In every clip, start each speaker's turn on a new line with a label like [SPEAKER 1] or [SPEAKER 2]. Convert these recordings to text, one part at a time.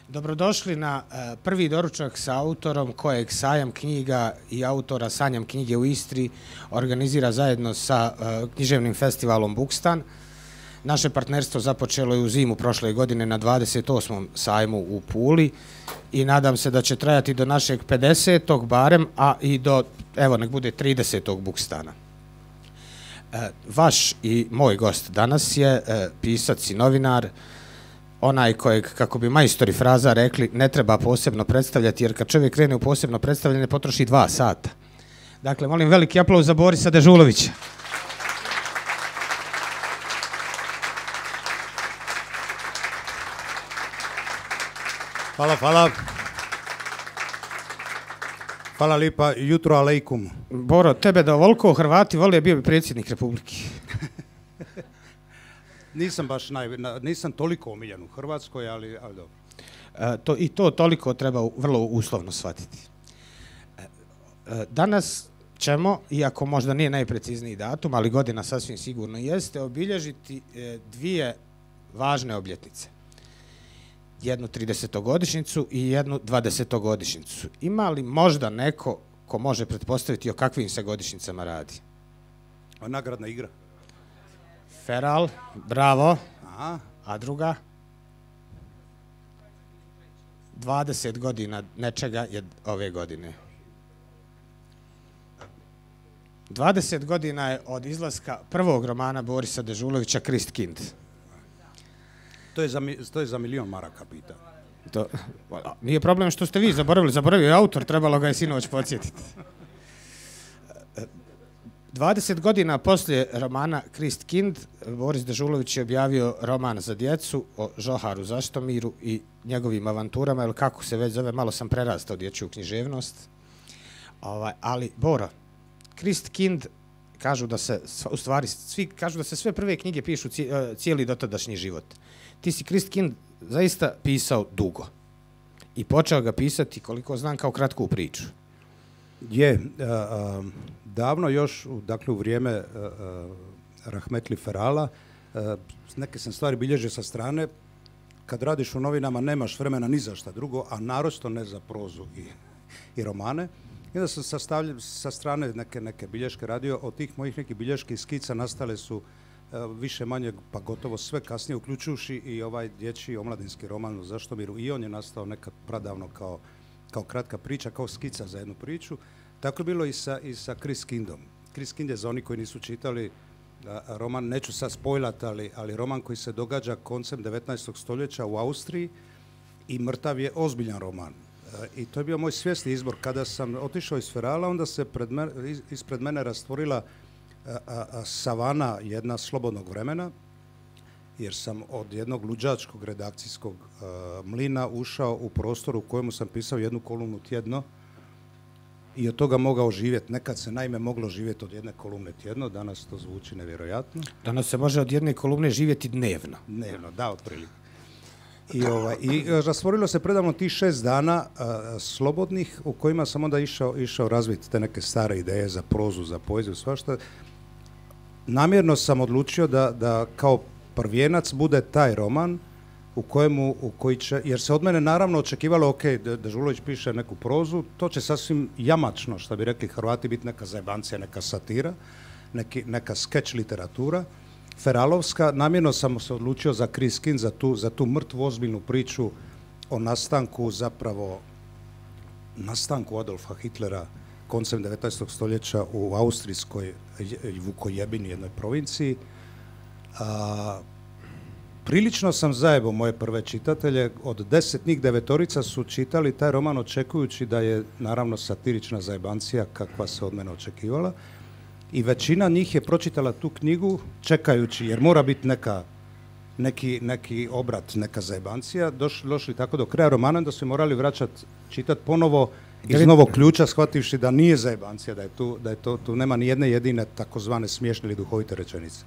[SPEAKER 1] Dobrodošli na prvi doručak sa autorom kojeg Sajam knjiga i autora Sanjam knjige u Istri organizira zajedno sa književnim festivalom Bukstan. Naše partnerstvo započelo je u zimu prošle godine na 28. sajmu u Puli i nadam se da će trajati do našeg 50. barem, a i do, evo, nek bude 30. Bukstana. Vaš i moj gost danas je pisac i novinar, onaj kojeg, kako bi majstori fraza rekli, ne treba posebno predstavljati, jer kad čovjek krene u posebno predstavljanje, potroši 2 sata. Dakle, molim veliki aplauz za Borisa Dežulovića.
[SPEAKER 2] Hvala, hvala. Hvala lipa, jutro alejkum.
[SPEAKER 1] Boro, tebe da ovoliko Hrvati vole, bio bi predsjednik Republike.
[SPEAKER 2] Nisam baš nisam toliko omiljen u Hrvatskoj, ali dobro.
[SPEAKER 1] I to toliko treba vrlo uslovno shvatiti. Danas ćemo, iako možda nije najprecizniji datum, ali godina sasvim sigurno jeste, obilježiti 2 važne obljetnice. Jednu 30-godišnjicu i jednu 20-godišnjicu. Ima li možda neko ko može pretpostaviti o kakvim se godišnjicama radi?
[SPEAKER 2] Nagradna igra.
[SPEAKER 1] Feral, bravo.
[SPEAKER 2] Aha.
[SPEAKER 1] A druga? 20 godina nečega je ove godine. 20 godina je od izlaska prvog romana Borisa Dežulovića Christkind.
[SPEAKER 2] To je za milion maraka, pita.
[SPEAKER 1] Nije problem što ste vi zaboravio je autor, trebalo ga je sinoć podsjetiti. 20 godina poslije romana Christkind, Boris Dežulović je objavio roman za djecu o Žoharu Zaštomiru i njegovim avanturama, ili kako se već zove, malo sam prerastao dječju književnost. Ali, Boro, Christkind, kažu da se, u stvari, svi kažu da se sve prve knjige pišu cijeli dotadašnji život. Ti si Christkind zaista pisao dugo i počeo ga pisati, koliko znam, kao kratku priču.
[SPEAKER 2] Davno još, dakle u vrijeme Rahmetli Ferala, neke sam stvari bilježio sa strane. Kad radiš u novinama nemaš vremena ni za šta drugo, a naročito ne za prozu i romane. I onda sam sa strane neke bilješke radio. Od tih mojih nekih bilješki i skica nastale su više manje, pa gotovo sve kasnije, uključujući i ovaj dječji omladinski roman o Zaštomiru. I on je nastao nekad pradavno kao kratka priča, kao skica za jednu priču. Tako je bilo i sa Christkindom. Christkind je, za oni koji nisu čitali roman, neću sad spojlat, ali roman koji se događa koncem 19. stoljeća u Austriji i mrtav je ozbiljan roman. I to je bio moj svjesni izbor. Kada sam otišao iz Ferala, onda se ispred mene rastvorila savana jedna slobodnog vremena, jer sam od jednog luđačkog redakcijskog mlina ušao u prostor u kojemu sam pisao jednu kolumnu tjedno i od toga mogao živjeti. Nekad se naime moglo živjeti od jedne kolumne tjedno, danas to zvuči nevjerojatno.
[SPEAKER 1] Danas se može od jedne kolumne živjeti dnevno.
[SPEAKER 2] Dnevno, da, otprilike. I rastvorilo se predavno tih 6 dana slobodnih, u kojima sam onda išao razviti te neke stare ideje za prozu, za poeziju, svašta. Namjerno sam odlučio da kao prvijenac bude taj roman jer se od mene naravno očekivalo, ok, Dežulović piše neku prozu, to će sasvim jamačno, što bi rekli Hrvati, biti neka zajebancija, neka satira, neka skeč literatura feralovska. Namjerno sam se odlučio za Christkind, za tu mrtvu ozbiljnu priču o nastanku Adolfa Hitlera koncem 19. stoljeća u austrijskoj Vukojebini, jednoj provinciji. Prilično sam zajebao moje prve čitatelje. Od 10 njih 9 su čitali taj roman očekujući da je naravno satirična zajebancija kakva se od mene očekivala. I većina njih je pročitala tu knjigu čekajući, jer mora biti neki obrat, neka zajebancija. Došli tako do kraja romana da su morali vraćati, čitati ponovo iz novog ključa, shvativši da nije zajebancija, da je tu nema ni jedne jedine takozvane smiješne ili duhovite rečenice.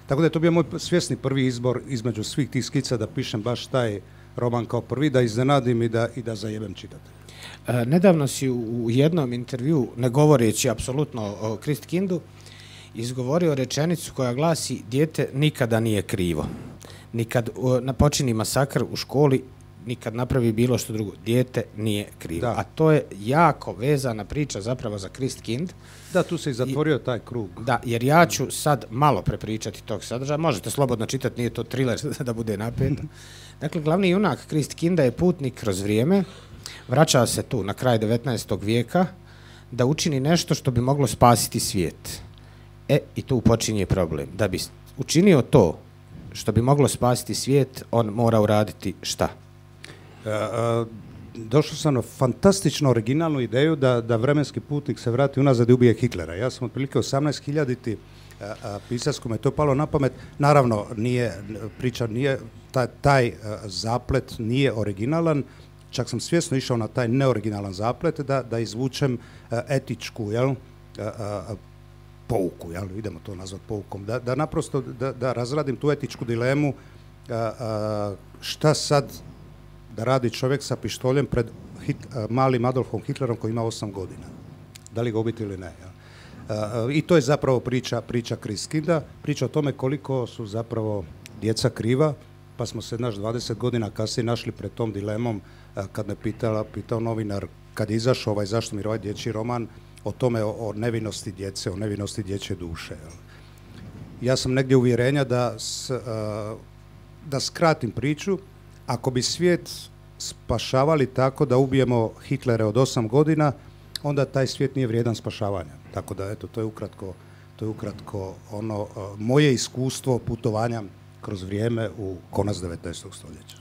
[SPEAKER 2] Tako da je to bio moj svjesni prvi izbor između svih tih skica da pišem baš taj roman kao prvi, da iznenadim i da zajebem čitatelja.
[SPEAKER 1] Nedavno si u jednom intervju, ne govoreći apsolutno o Christkindu, izgovorio rečenicu koja glasi: dijete nikada nije krivo. Ni kad počini masakr u školi, nikad napravi bilo što drugo. Dijete nije krivo.
[SPEAKER 2] Da.
[SPEAKER 1] A to je jako vezana priča zapravo za Christkind.
[SPEAKER 2] Da, tu se i zatvorio taj krug.
[SPEAKER 1] Da, jer ja ću sad malo prepričati tog sadržaja. Možete slobodno čitati, nije to thriller da bude napeto. Dakle, glavni junak Christkinda je putnik kroz vrijeme, vraća se tu na kraj 19. vijeka da učini nešto što bi moglo spasiti svijet. I tu počinje problem. Da bi učinio to što bi moglo spasiti svijet, on mora uraditi šta?
[SPEAKER 2] Došao sam na fantastično originalnu ideju da vremenski putnik se vrati unazad i ubije Hitlera. Ja sam otprilike 18.000 pisac kome je to palo na pamet. Naravno, taj zaplet nije originalan, čak sam svjesno išao na taj neoriginalan zaplet da izvučem etičku, pouku, idemo to nazvati poukom, da naprosto da razradim tu etičku dilemu šta sad da radi čovjek sa pištoljem pred malim Adolfom Hitlerom koji ima 8 godina. Da li ga ubiti ili ne. I to je zapravo priča Christkinda, priča o tome koliko su zapravo djeca kriva, pa smo se 20 godina kasnije našli pred tom dilemom kad me pitao novinar kad je izašao zašto mi ovaj dječji roman o tome o nevinosti djece, o nevinosti dječje duše. Ja sam negdje uvjerenja da skratim priču, ako bi svijet spašavali tako da ubijemo Hitlere od 8 godina, onda taj svijet nije vrijedan spašavanja. Tako da, eto, to je ukratko ono moje iskustvo putovanja kroz vrijeme u konac 19. stoljeća.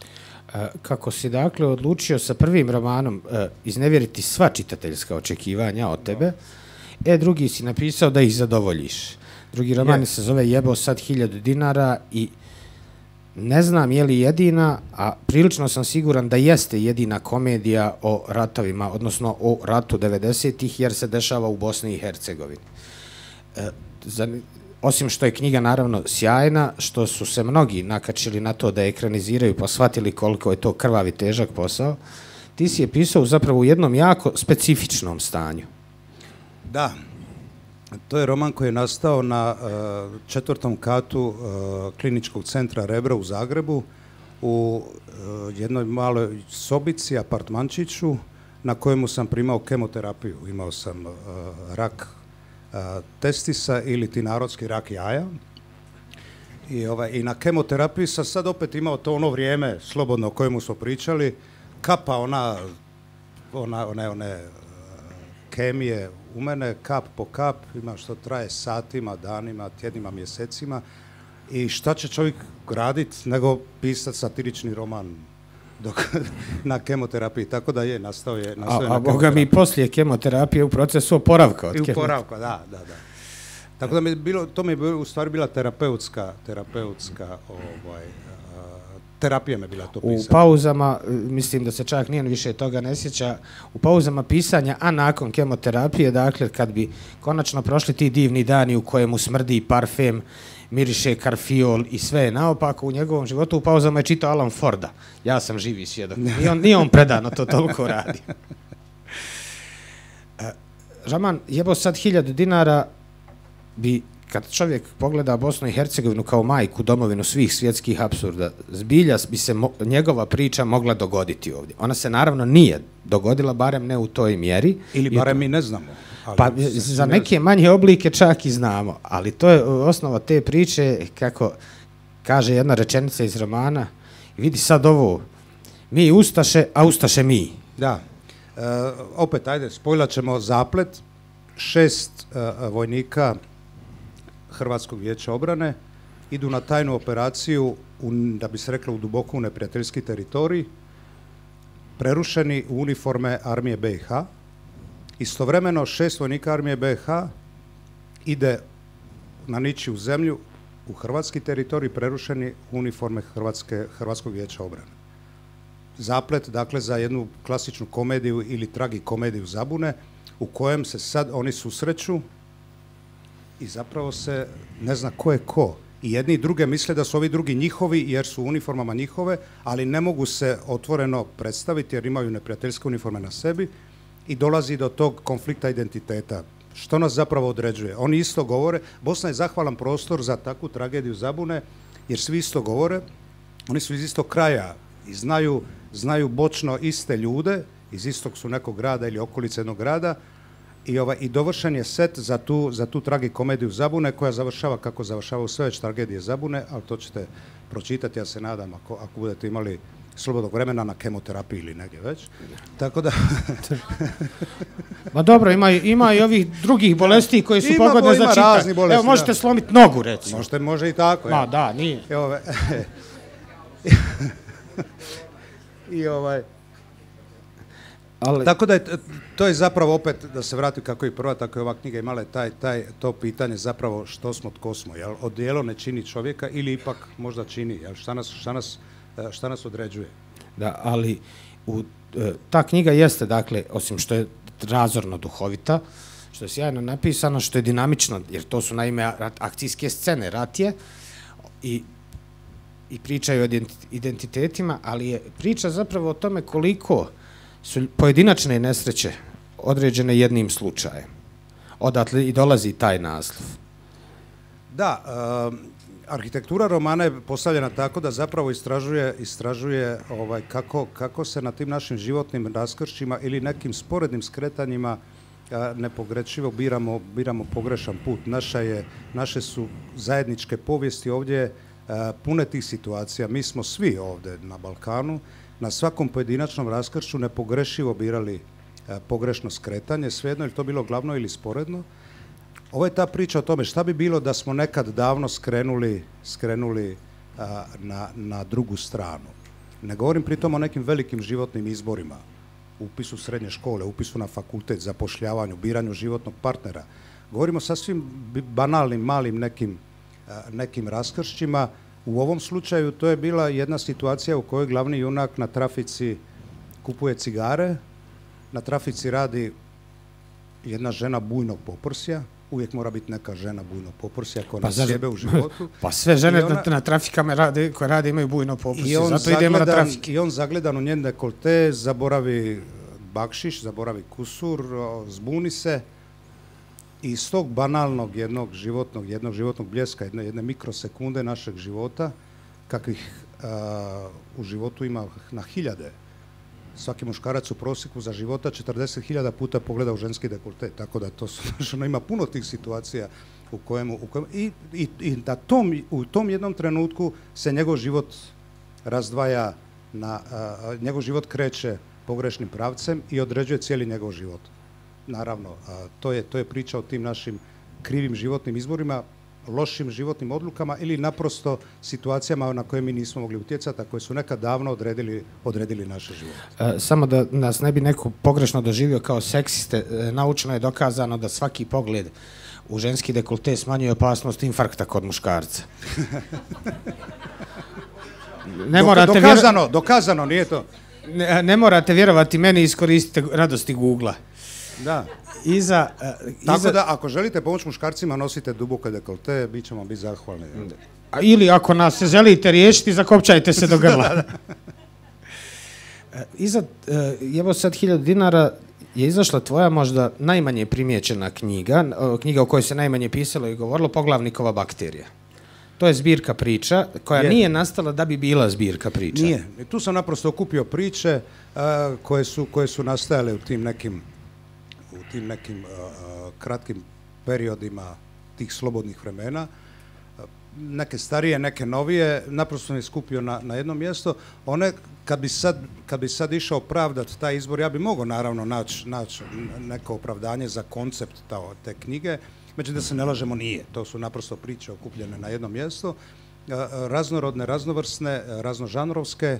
[SPEAKER 1] Kako si dakle odlučio sa prvim romanom iznevjeriti sva čitateljska očekivanja od tebe, drugi si napisao da ih zadovoljiš. Drugi roman se zove Jebo sad 1000 dinara i ne znam je li jedina, a prilično sam siguran da jeste jedina komedija o ratovima, odnosno o ratu 90-ih, jer se dešava u Bosni i Hercegovini. Osim što je knjiga naravno sjajna, što su se mnogi nakačili na to da je ekraniziraju pa shvatili koliko je to krvavi težak posao, ti si je pisao zapravo u jednom jako specifičnom stanju.
[SPEAKER 2] Da, to je roman koji je nastao na 4. katu Kliničkog centra Rebro u Zagrebu u jednoj maloj sobici, apartmančiću na kojemu sam primao kemoterapiju. Imao sam rak testisa ili ti narodski rak jaja. I na kemoterapiji sam sad opet imao to ono vrijeme slobodno o kojemu smo pričali, kapa one kemije u mene, kap po kap, ima što traje satima, danima, tjednima, mjesecima. I šta će čovjek raditi nego pisati satirični roman na kemoterapiji, tako da nastao je na kemoterapiji.
[SPEAKER 1] A boga mi poslije kemoterapije u procesu oporavka od kemoterapije.
[SPEAKER 2] Oporavka, da. Tako da to mi je u stvari bila terapeutka terapija me bila to pisana.
[SPEAKER 1] U pauzama, mislim da se čak nijedan više toga ne sjeća, u pauzama pisanja, a nakon kemoterapije, dakle, kad bi konačno prošli ti divni dani u kojemu smrdi parfem, miriše karfiol i sve je naopako u njegovom životu, u pauzama je čitao Alan Forda. Ja sam živi svjedok. Nije on predano to toliko radi. Roman Jebo sad 1000 dinara bi, kad čovjek pogleda Bosnu i Hercegovinu kao majku, domovinu svih svjetskih apsurda, zbilja bi se njegova priča mogla dogoditi ovdje. Ona se naravno nije dogodila, barem ne u toj mjeri.
[SPEAKER 2] Ili barem mi ne znamo.
[SPEAKER 1] Pa za neke manje oblike čak i znamo, ali to je osnova te priče, kako kaže jedna rečenica iz romana, vidi sad ovo, mi ustaše, a ustaše mi.
[SPEAKER 2] Da, opet, ajde, spojlat ćemo zaplet, 6 vojnika Hrvatskog vijeća obrane idu na tajnu operaciju, da bi se reklo, u duboko neprijateljski teritorij, prerušeni u uniforme armije BiH. Istovremeno 6 vojnika armije BiH ide na ničiju zemlju u hrvatski teritorij, prerušeni u uniforme Hrvatskog vijeća obrane. Zaplet, dakle, za jednu klasičnu komediju ili tragikomediju zabune, u kojem se sad oni susreću i zapravo se ne zna ko je ko. I jedni i druge misle da su ovi drugi njihovi jer su u uniformama njihove, ali ne mogu se otvoreno predstaviti jer imaju neprijateljske uniforme na sebi i dolazi do tog konflikta identiteta. Što nas zapravo određuje? Oni isto govore, Bosna je zahvalan prostor za takvu tragediju zabune jer svi isto govore, oni su iz istog kraja i znaju znaju bočno iste ljude, iz istog su nekog grada ili okolice jednog grada, i dovršen je set za tu tragikomediju Zabune, koja završava kako završavaju sve već tragedije Zabune, ali to ćete pročitati, ja se nadam, ako budete imali slobodnog vremena na kemoterapiji ili negdje već. Tako da...
[SPEAKER 1] Ma dobro, ima i ovih drugih bolesti koji su pogodne za čitanje. Evo, možete slomiti nogu, recimo.
[SPEAKER 2] Može i tako.
[SPEAKER 1] Ma da, nije.
[SPEAKER 2] Tako da to je zapravo opet, da se vratim kako i prva, tako i ova knjiga imala to pitanje zapravo što smo, tko smo. Jel? Odijelo ne čini čovjeka ili ipak možda čini. Jel? Šta nas određuje?
[SPEAKER 1] Da, ali ta knjiga jeste, dakle, osim što je razorno duhovita, što je sjajno napisano, što je dinamično, jer to su naime akcijske scene, rat je, i pričaju o identitetima, ali je priča zapravo o tome koliko su pojedinačne nesreće određene jednim slučajem. Odatle i dolazi taj naslov.
[SPEAKER 2] Da, arhitektura romana je postavljena tako da zapravo istražuje kako se na tim našim životnim raskršćima ili nekim sporednim skretanjima nepogrešivo biramo pogrešan put. Naše su zajedničke povijesti ovdje pune tih situacija. Mi smo svi ovdje na Balkanu na svakom pojedinačnom raskršću nepogrešivo birali pogrešno skretanje, svejedno je to bilo glavno ili sporedno. Ovo je ta priča o tome šta bi bilo da smo nekad davno skrenuli na drugu stranu. Ne govorim pritom o nekim velikim životnim izborima, upisu srednje škole, upisu na fakultet, zapošljavanju, biranju životnog partnera. Govorimo o sasvim banalnim, malim nekim raskršćima. U ovom slučaju to je bila jedna situacija u kojoj glavni junak na trafici kupuje cigare, na trafici radi jedna žena bujnog poprsja, uvijek mora biti neka žena bujnog poprsja koja nas sjebe u životu.
[SPEAKER 1] Pa sve žene na trafikama koje rade imaju bujno poprsje, zato idemo na trafike.
[SPEAKER 2] I on zagledan u njen dekolte, zaboravi bakšiš, zaboravi kusur, zbuni se. I iz tog banalnog jednog životnog bljeska, jedne mikrosekunde našeg života, kakvih u životu ima na hiljade. Svaki muškarac u prosjeku za života 40.000 puta pogleda u ženski dekolte, tako da to ima puno tih situacija u kojemu i u tom jednom trenutku se njegov život razdvaja, njegov život kreće pogrešnim pravcem i određuje cijeli njegov život. Naravno, to je priča o tim našim krivim životnim izborima, lošim životnim odlukama ili naprosto situacijama na koje mi nismo mogli utjecati, a koje su nekad davno odredili naše živote.
[SPEAKER 1] Samo da nas ne bi neko pogrešno doživio kao seksiste, naučno je dokazano da svaki pogled u ženski dekolte smanjuje opasnost infarkta kod muškarca.
[SPEAKER 2] Dokazano, nije to.
[SPEAKER 1] Ne morate vjerovati meni, iskoristite radosti Google-a.
[SPEAKER 2] Da. Tako da, ako želite pomoći muškarcima, nosite duboke dekolte, bit ćemo biti zahvalni.
[SPEAKER 1] Ili ako nas se želite riješiti, zakopčajte se do grla. Evo sad 1000 dinara je izašla tvoja možda najmanje primijećena knjiga o kojoj se najmanje pisalo i govorilo, Poglavnikova bakterija. To je zbirka priča koja nije nastala da bi bila zbirka priča.
[SPEAKER 2] Nije. Tu sam naprosto okupio priče koje su nastajale u tim nekim kratkim periodima tih slobodnih vremena. Neke starije, neke novije, naprosto sam ih skupio na jedno mjesto. One, kad bi sad išao opravdati taj izbor, ja bi mogao naravno naći neko opravdanje za koncept te knjige, međutim da se ne lažemo, nije. To su naprosto priče okupljene na jedno mjesto, raznorodne, raznovrsne, raznožanrovske.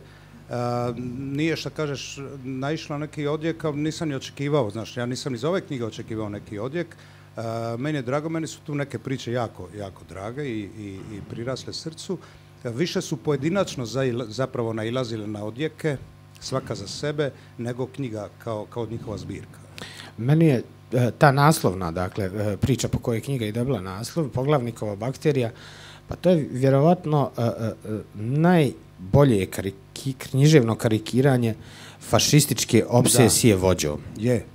[SPEAKER 2] Nije, što kažeš, naišla neki odjek, ali nisam ni očekivao, znaš, ja nisam iz ove knjige očekivao neki odjek. Meni je drago, meni su tu neke priče jako, jako drage i prirasle srcu. Više su pojedinačno zapravo nailazile na odjeke, svaka za sebe, nego knjiga kao njihova zbirka.
[SPEAKER 1] Meni je ta naslovna, dakle, priča po kojoj knjiga i dobila naslov, Poglavnikova bakterija, pa to je vjerovatno najbolje književno karikiranje fašističke obsesije vođom.
[SPEAKER 2] Je.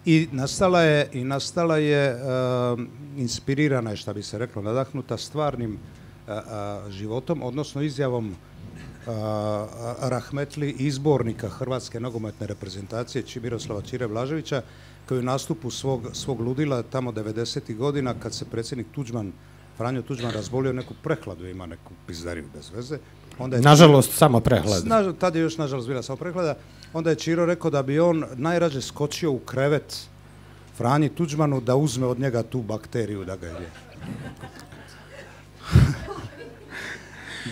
[SPEAKER 2] I nastala je inspirirana je, šta bi se reklo, nadahnuta stvarnim životom, odnosno izjavom rahmetli izbornika Hrvatske nogometne reprezentacije Miroslava Ćire Blaževića, koji u nastupu svog ludila tamo 90. godina, kad se predsjednik Franjo Tuđman razbolio, neku prehladu, ima neku pizdariju bez veze.
[SPEAKER 1] Nažalost, samo prehlada.
[SPEAKER 2] Tad je još, nažalost, bila samo prehlada. Onda je Ćiro rekao da bi on najrađe skočio u krevet Franji Tuđmanu da uzme od njega tu bakteriju da ga je.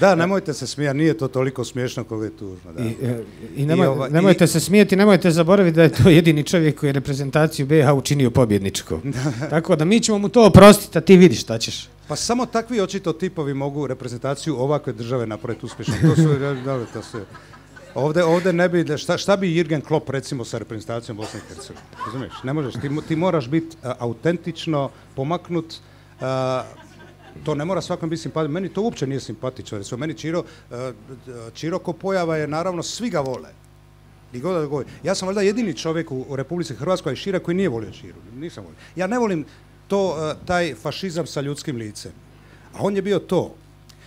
[SPEAKER 2] Da, nemojte se smijati, nije to toliko smiješno koliko je tužno. Da.
[SPEAKER 1] Nemojte se smijeti, nemojte zaboraviti da je to jedini čovjek koji je reprezentaciju BiH učinio pobjedničkom. Tako da mi ćemo mu to oprostiti, a ti vidiš šta ćeš.
[SPEAKER 2] Pa samo takvi očito tipovi mogu reprezentaciju ovakve države napraviti uspješno. To su ovdje ne bi, šta bi Jürgen Klopp recimo sa reprezentacijom Bosne i Hercegovine? Razumiješ? Ne možeš, ti moraš biti autentično pomaknut. To ne mora svakom biti simpatično. Meni to uopće nije simpatično. Recimo, meni Ćiro ko pojava je, naravno, svi ga vole. Ja sam valjda jedini čovjek u Republici Hrvatskoj i šire koji nije volio Ćiru. Nisam volio. Ja ne volim taj fašizam sa ljudskim licem. A on je bio to.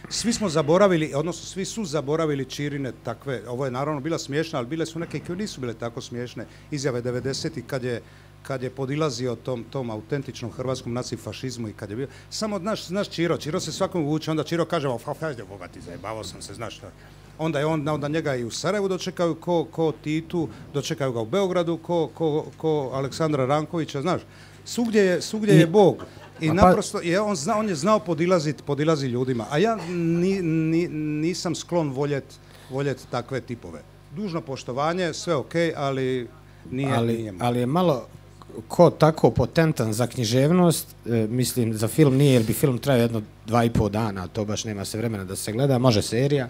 [SPEAKER 2] Svi smo zaboravili, odnosno svi su zaboravili Ćirine takve, ovo je naravno bila smiješna, ali bile su neke koje nisu bile tako smiješne izjave 90-ih kad je podilazio tom autentičnom hrvatskom nacifašizmu i kad je bio, samo znaš Ćiro se svakom vuče, onda Ćiro kaže, Boga ti zajebavao sam se, znaš šta. Onda njega i u Sarajevu dočekaju ko Titu, dočekaju ga u Beogradu ko Aleksandra Rankovića, znaš. Svugdje je Bog. I naprosto, on je znao podilaziti ljudima, a ja nisam sklon voljeti takve tipove. Dužno poštovanje, sve ok, ali nije.
[SPEAKER 1] Ali je malo ko tako potentan za književnost, mislim za film nije, jer bi film trajao jedno 2,5 dana, to baš nema se vremena da se gleda, može serija.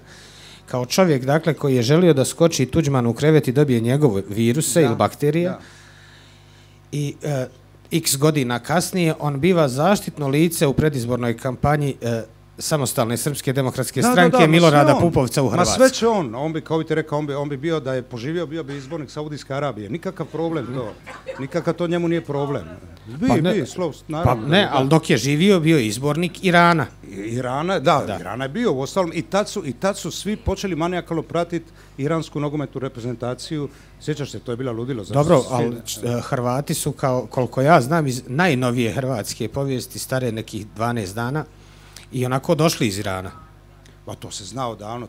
[SPEAKER 1] Kao čovjek, dakle, koji je želio da skoči Tuđman u krevet i dobije njegove viruse ili bakterije, i x godina kasnije on biva zaštitno lice u predizbornoj kampanji Samostalne srpske demokratske stranke Milorada Pupovca u Hrvatskoj.
[SPEAKER 2] Ma sve će on bi, kao bi ti rekao, on bi bio da je poživio, bio bi izbornik Saudijske Arabije. Nikakav problem to. Nikakav to njemu nije problem.
[SPEAKER 1] Pa ne, ali dok je živio, bio je izbornik Irana.
[SPEAKER 2] Irana je bio, uostalom, i tad su svi počeli manijakalno pratiti iransku nogometnu reprezentaciju. Sjećaš se, to je bila ludilo.
[SPEAKER 1] Dobro, ali Hrvati su, koliko ja znam, iz najnovije hrvatske povijesti, stare nekih 12 dana, i onako došli iz Irana.
[SPEAKER 2] Pa to se znao davno,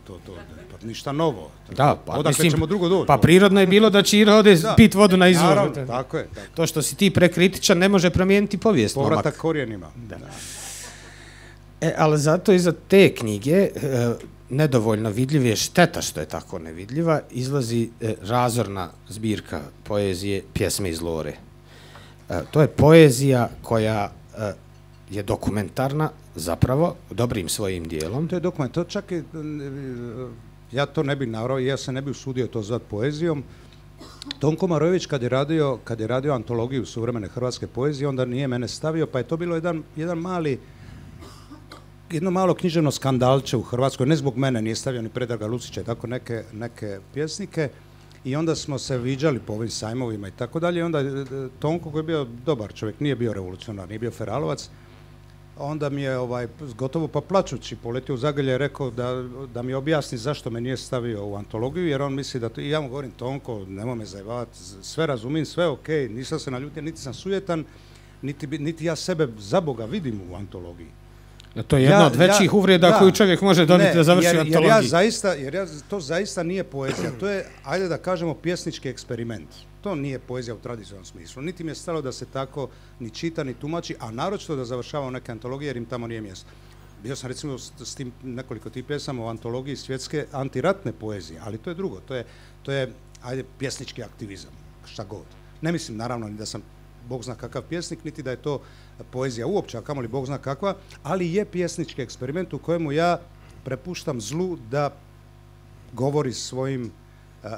[SPEAKER 2] pa ništa novo.
[SPEAKER 1] Da, pa
[SPEAKER 2] odakle ćemo drugo doći?
[SPEAKER 1] Pa prirodno je bilo da Ćiro ode pit vodu na izvor.
[SPEAKER 2] Naravno, tako je.
[SPEAKER 1] To što si ti prekritičan ne može promijeniti povijest.
[SPEAKER 2] Povratak korijenima.
[SPEAKER 1] Ali zato iza te knjige, nedovoljno vidljiv je, šteta što je tako nevidljiva, izlazi razorna zbirka poezije Pjesme iz Lore. To je poezija koja je dokumentarna, zapravo, dobrim svojim dijelom.
[SPEAKER 2] To je dokument, to čak i, ja to ne bih navrao, ja se ne bih usudio to zvati poezijom. Tonko Marojević kad je radio antologiju suvremene hrvatske poezije, onda nije mene stavio, pa je to bilo jedno malo književno skandalče u Hrvatskoj, ne zbog mene, nije stavio ni Predraga Lucića i tako neke pjesnike. I onda smo se viđali po ovim sajmovima i tako dalje. I onda Tonko, koji je bio dobar čovjek, nije bio revolucionar, nije bio feralovac, onda mi je gotovo pa plačući poletio u zagrlje i rekao da mi objasni zašto me nije stavio u antologiju, jer on misli da to, i ja mu govorim, Tonko, nemoj me zajebavati, sve razumijem, sve ok, nisam se naljutio, niti sam sujetan, niti ja sebe za Boga vidim u antologiji.
[SPEAKER 1] To je jedna od većih uvreda koju čovjek može dobiti da završi antologiju.
[SPEAKER 2] Jer to zaista nije poezija, to je, ajde da kažemo, pjesnički eksperiment. To nije poezija u tradicionalnom smislu. Niti mi je stalo da se tako ni čita, ni tumači, a naročito da završavam neke antologije jer im tamo nije mjesto. Bio sam recimo s tim nekoliko tih pjesama u antologiji svjetske antiratne poezije, ali to je drugo, to je ajde, pjesnički aktivizam, šta god. Ne mislim naravno ni da sam Bog zna kakav pjesnik, niti da je to poezija uopće, a kamoli Bog zna kakva, ali je pjesnički eksperiment u kojemu ja prepuštam zlu da govori svojim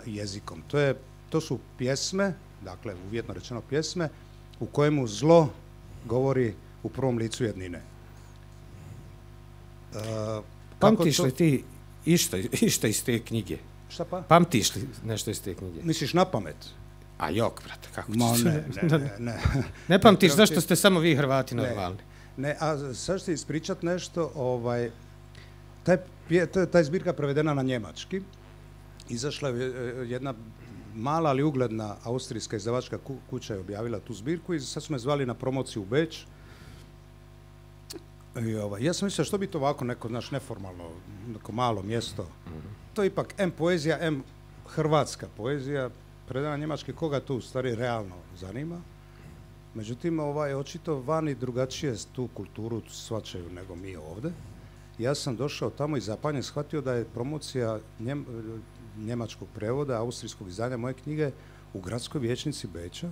[SPEAKER 2] jezikom. To su pjesme, dakle uvjetno rečeno pjesme, u kojemu zlo govori u prvom licu jednine.
[SPEAKER 1] Pamtiš li ti išta iz te knjige?
[SPEAKER 2] Šta pa?
[SPEAKER 1] Pamtiš li nešto iz te knjige?
[SPEAKER 2] Misliš na pamet?
[SPEAKER 1] A jok, brate, kako ćeš?
[SPEAKER 2] Ne.
[SPEAKER 1] Ne pamtiš zašto ste samo vi Hrvati normalni?
[SPEAKER 2] Ne, a sad ću ti ispričat nešto, taj zbirka prevedena na njemački. Izašla je jedna mala ali ugledna austrijska izdavačka kuća je objavila tu zbirku i sad su me zvali na promociju u Beč. Ja sam mislio što bi to ovako neko, znaš, neformalno, neko malo mjesto. To je ipak M poezija, M hrvatska poezija, predana njemački, koga to u stvari realno zanima. Međutim, očito vani drugačije tu kulturu shvaćaju nego mi ovdje. Ja sam došao tamo i zapanjen shvatio da je promocija njemačkog prevoda, austrijskog izdanja moje knjige u gradskoj vijećnici Beča,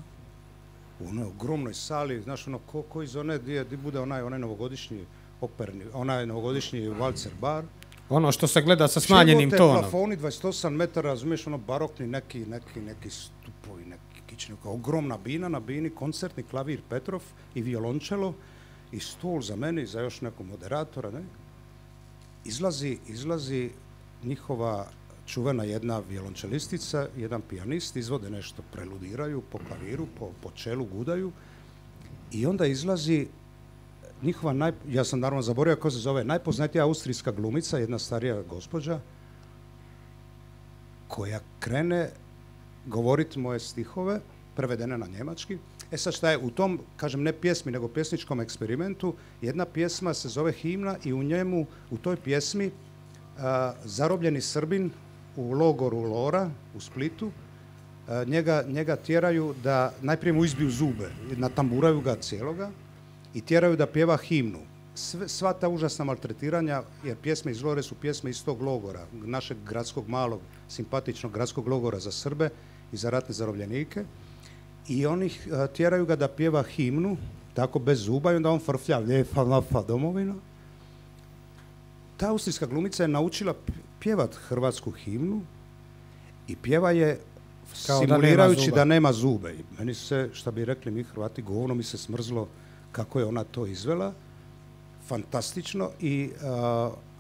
[SPEAKER 2] u onoj ogromnoj sali, znaš, ono, ko iz one gdje bude onaj novogodišnji operni, onaj novogodišnji valcer bar.
[SPEAKER 1] Ono što se gleda sa smanjenim tonom.
[SPEAKER 2] Plafoni 28 metara, razumiješ, ono barokni neki stupovi, neki kični, ogromna bina, na bini koncertni klavir Petrov i violončelo i stol za mene i za još nekog moderatora, ne? Izlazi njihova čuvena jedna violončelistica, jedan pijanist, izvode nešto, preludiraju po klaviru, po čelu gudaju i onda izlazi njihova, ja sam naravno zaboravio kako se zove, najpoznatija austrijska glumica, jedna starija gospođa, koja krene govoriti moje stihove, prevedene na njemački. Sad šta je, u tom, kažem, ne pjesmi, nego pjesničkom eksperimentu, jedna pjesma se zove Himna i u toj pjesmi zarobljeni Srbin u logoru Lora u Splitu, njega tjeraju da najprije mu izbiju zube, natamburaju ga cijeloga i tjeraju da pjeva himnu. Sva ta užasna maltretiranja, jer pjesme iz Lore su pjesme iz tog logora, našeg gradskog malog, simpatičnog gradskog logora za Srbe i za ratne zarobljenike. I oni tjeraju ga da pjeva himnu, tako bez zuba, i onda on frflja lijepa nafa domovina. Ta austrijska glumica je naučila pjevat hrvatsku himnu i pjeva je simulirajući da nema zube. I meni se, šta bi rekli mi Hrvati, govno mi se smrzlo kako je ona to izvela. Fantastično.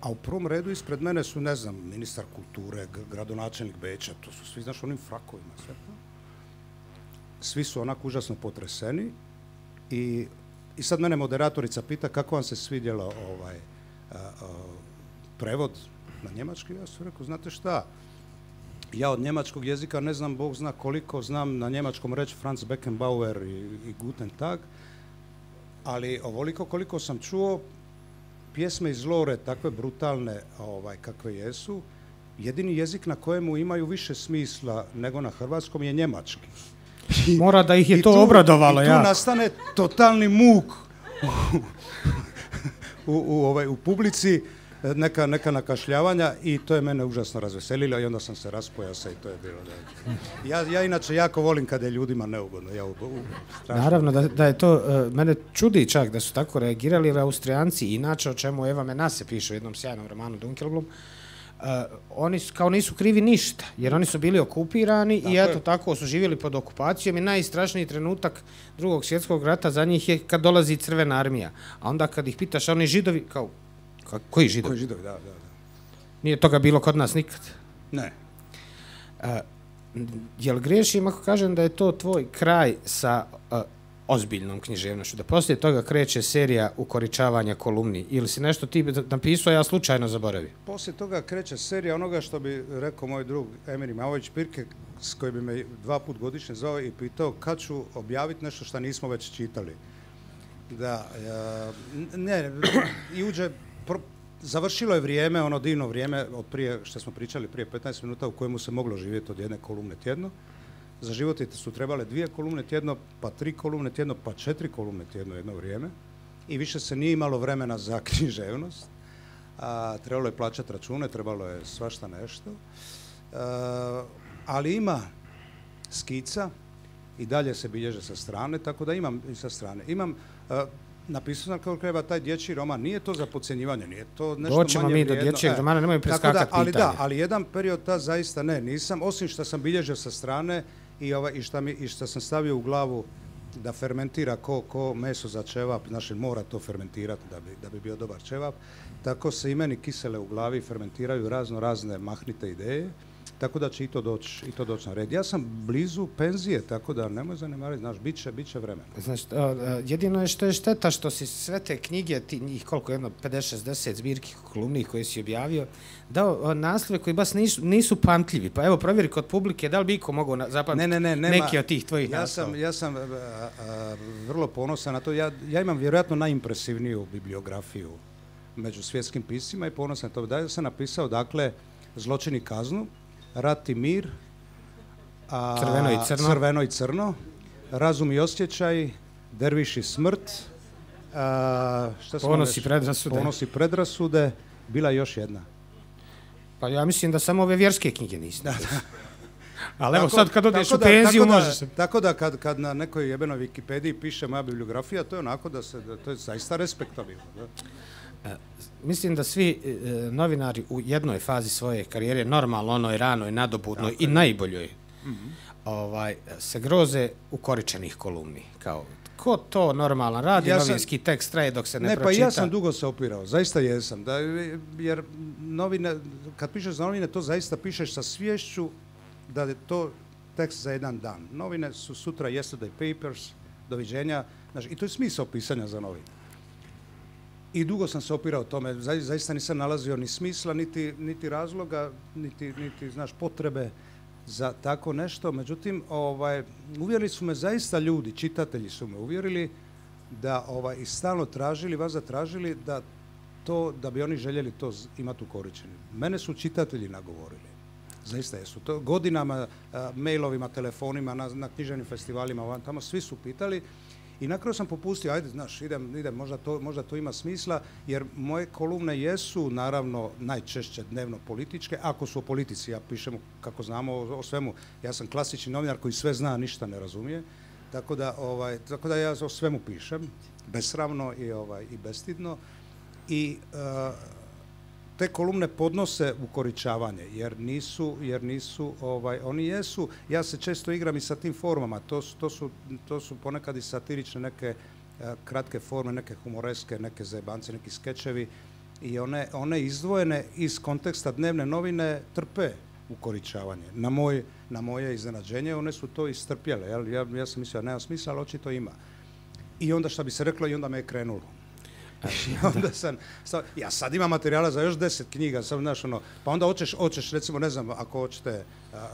[SPEAKER 2] A u prvom redu ispred mene su, ne znam, ministar kulture, gradonačelnik Beča, to su svi, znaš, onim frakovima, sve to. Svi su onako užasno potreseni i sad mene moderatorica pita kako vam se svidjelo prevod na njemački. Ja sam rekao, znate šta, ja od njemačkog jezika ne znam, Bog zna koliko, znam na njemačkom reći Franz Beckenbauer i Guten Tag, ali ovoliko koliko sam čuo, pjesme iz Lore, takve brutalne kakve jesu, jedini jezik na kojemu imaju više smisla nego na hrvatskom je njemački.
[SPEAKER 1] Mora da ih je to obradovalo.
[SPEAKER 2] I tu nastane totalni muk u publici, neka nakašljavanja i to je mene užasno razveselilo i onda sam se raspojasa i to je bilo. Ja inače jako volim kada je ljudima neugodno.
[SPEAKER 1] Naravno da je to, mene čudi čak da su tako reagirali, jer Austrijanci, inače o čemu Eva Menase piše u jednom sjajnom romanu Dunkelblum, oni kao nisu krivi ništa, jer oni su bili okupirani i eto tako su živjeli pod okupacijom i najstrašniji trenutak Drugog svjetskog rata za njih je kad dolazi Crvena armija. A onda kad ih pitaš, oni Židovi, kao, koji Židovi?
[SPEAKER 2] Koji Židovi, da.
[SPEAKER 1] Nije toga bilo kod nas nikad.
[SPEAKER 2] Ne.
[SPEAKER 1] Jel griješim ako kažem da je to tvoj kraj sa ozbiljnom književnošću, da poslije toga kreće serija ukoričavanja kolumni, ili si nešto ti napisao, ja slučajno zaboravio?
[SPEAKER 2] Poslije toga kreće serija onoga što bi rekao moj drug Emir Mavović-Pirke, s koji bi me 2 puta godišnje zvao i pitao kad ću objaviti nešto što nismo već čitali. Završilo je vrijeme, ono divno vrijeme od prije, što smo pričali prije 15 minuta, u kojemu se moglo živjeti od jedne kolumne tjedno. Za život su trebale 2 kolumne tjedno, pa 3 kolumne tjedno, pa 4 kolumne tjedno jedno vrijeme. I više se nije imalo vremena za književnost. Trebalo je plaćati račune, trebalo je svašta nešto. Ali ima skica i dalje se bilježe sa strane, tako da imam i sa strane. Napisao sam kako treba taj dječji roman, nije to za podcjenjivanje, nije to nešto manje vrijedno.
[SPEAKER 1] Doćemo mi do dječjeg romana, nemoj preskakati pitanje.
[SPEAKER 2] Ali jedan period zaista nisam, osim što sam bilježio sa strane i što sam stavio u glavu da fermentira ko meso za ćevap, znači mora to fermentirati da bi bio dobar ćevap, tako se i meni kisele u glavi fermentiraju razne mahnite ideje, tako da će i to doći na red. Ja sam blizu penzije, tako da nemoj zanemariti, znaš, bit će vremena.
[SPEAKER 1] Znači, jedino je što je šteta što si sve te knjige, njih koliko, 50-60 zbirki kolumnih koje si objavio, dao naslove koji baš nisu pamtljivi. Pa evo, provjeri kod publike, da li bi iko mogao zapamtiti neki od tih tvojih naslova?
[SPEAKER 2] Ja sam vrlo ponosan na to. Ja imam vjerojatno najimpresivniju bibliografiju među svjetskim piscima i ponosan na to. Da sam napisao, dakle, Zločin i kaznu, Rat i mir, Crveno i crno, Razum i osjećaj, Derviš i smrt, Ponos i predrasude, bila je još jedna.
[SPEAKER 1] Pa ja mislim da samo ove vjerske knjige nisi. Ali evo sad kad odeš u penziju možeš se...
[SPEAKER 2] Tako da kad na nekoj jebenoj Wikipediji piše moja bibliografija, to je onako to je zaista respektabilno.
[SPEAKER 1] Mislim da svi novinari u jednoj fazi svoje karijere, normalno onoj ranoj, nadobudnoj i najboljoj, se groze ukoričenih kolumni. Kao, ko to normalan radi, novinski tekst traje dok se ne pročita?
[SPEAKER 2] Pa ja sam dugo se opirao, zaista jesam. Jer novine, kad pišeš za novine, to zaista pišeš sa sviješću da je to tekst za jedan dan. Novine su sutra yesterday papers, doviđenja, i to je smisao pisanja za novine. I dugo sam se opirao tome, zaista nisam nalazio ni smisla, niti razloga, niti potrebe za tako nešto. Međutim, uvjerili su me zaista ljudi, čitatelji su me uvjerili da i stalno tražili da bi oni željeli to imati ukoričeno. Mene su čitatelji nagovorili. Zaista jesu. To godinama, mailovima, telefonima, na književnim festivalima, tamo svi su pitali. I na kraju sam popustio, ajde, idem, možda to ima smisla, jer moje kolumne jesu, naravno, najčešće dnevno političke, ako su o politici, ja pišem, kako znamo, o svemu. Ja sam klasični novinar koji sve zna, ništa ne razumije, tako da ja o svemu pišem, besramno i bestidno. I te kolumne podnose ukoričavanje, jer nisu, oni jesu, ja se često igram i sa tim formama, to su ponekad i satirične neke kratke forme, neke humoreske, neke zajebance, neki skečevi i one izdvojene iz konteksta dnevne novine trpe ukoričavanje. Na moje iznenađenje one su to istrpjele, ja sam mislio da nema smisla, ali očito ima. I onda što bi se reklo, i onda me je krenulo. Ja sad imam materijala za još 10 knjiga, pa onda hoćeš, recimo, ne znam, ako hoćete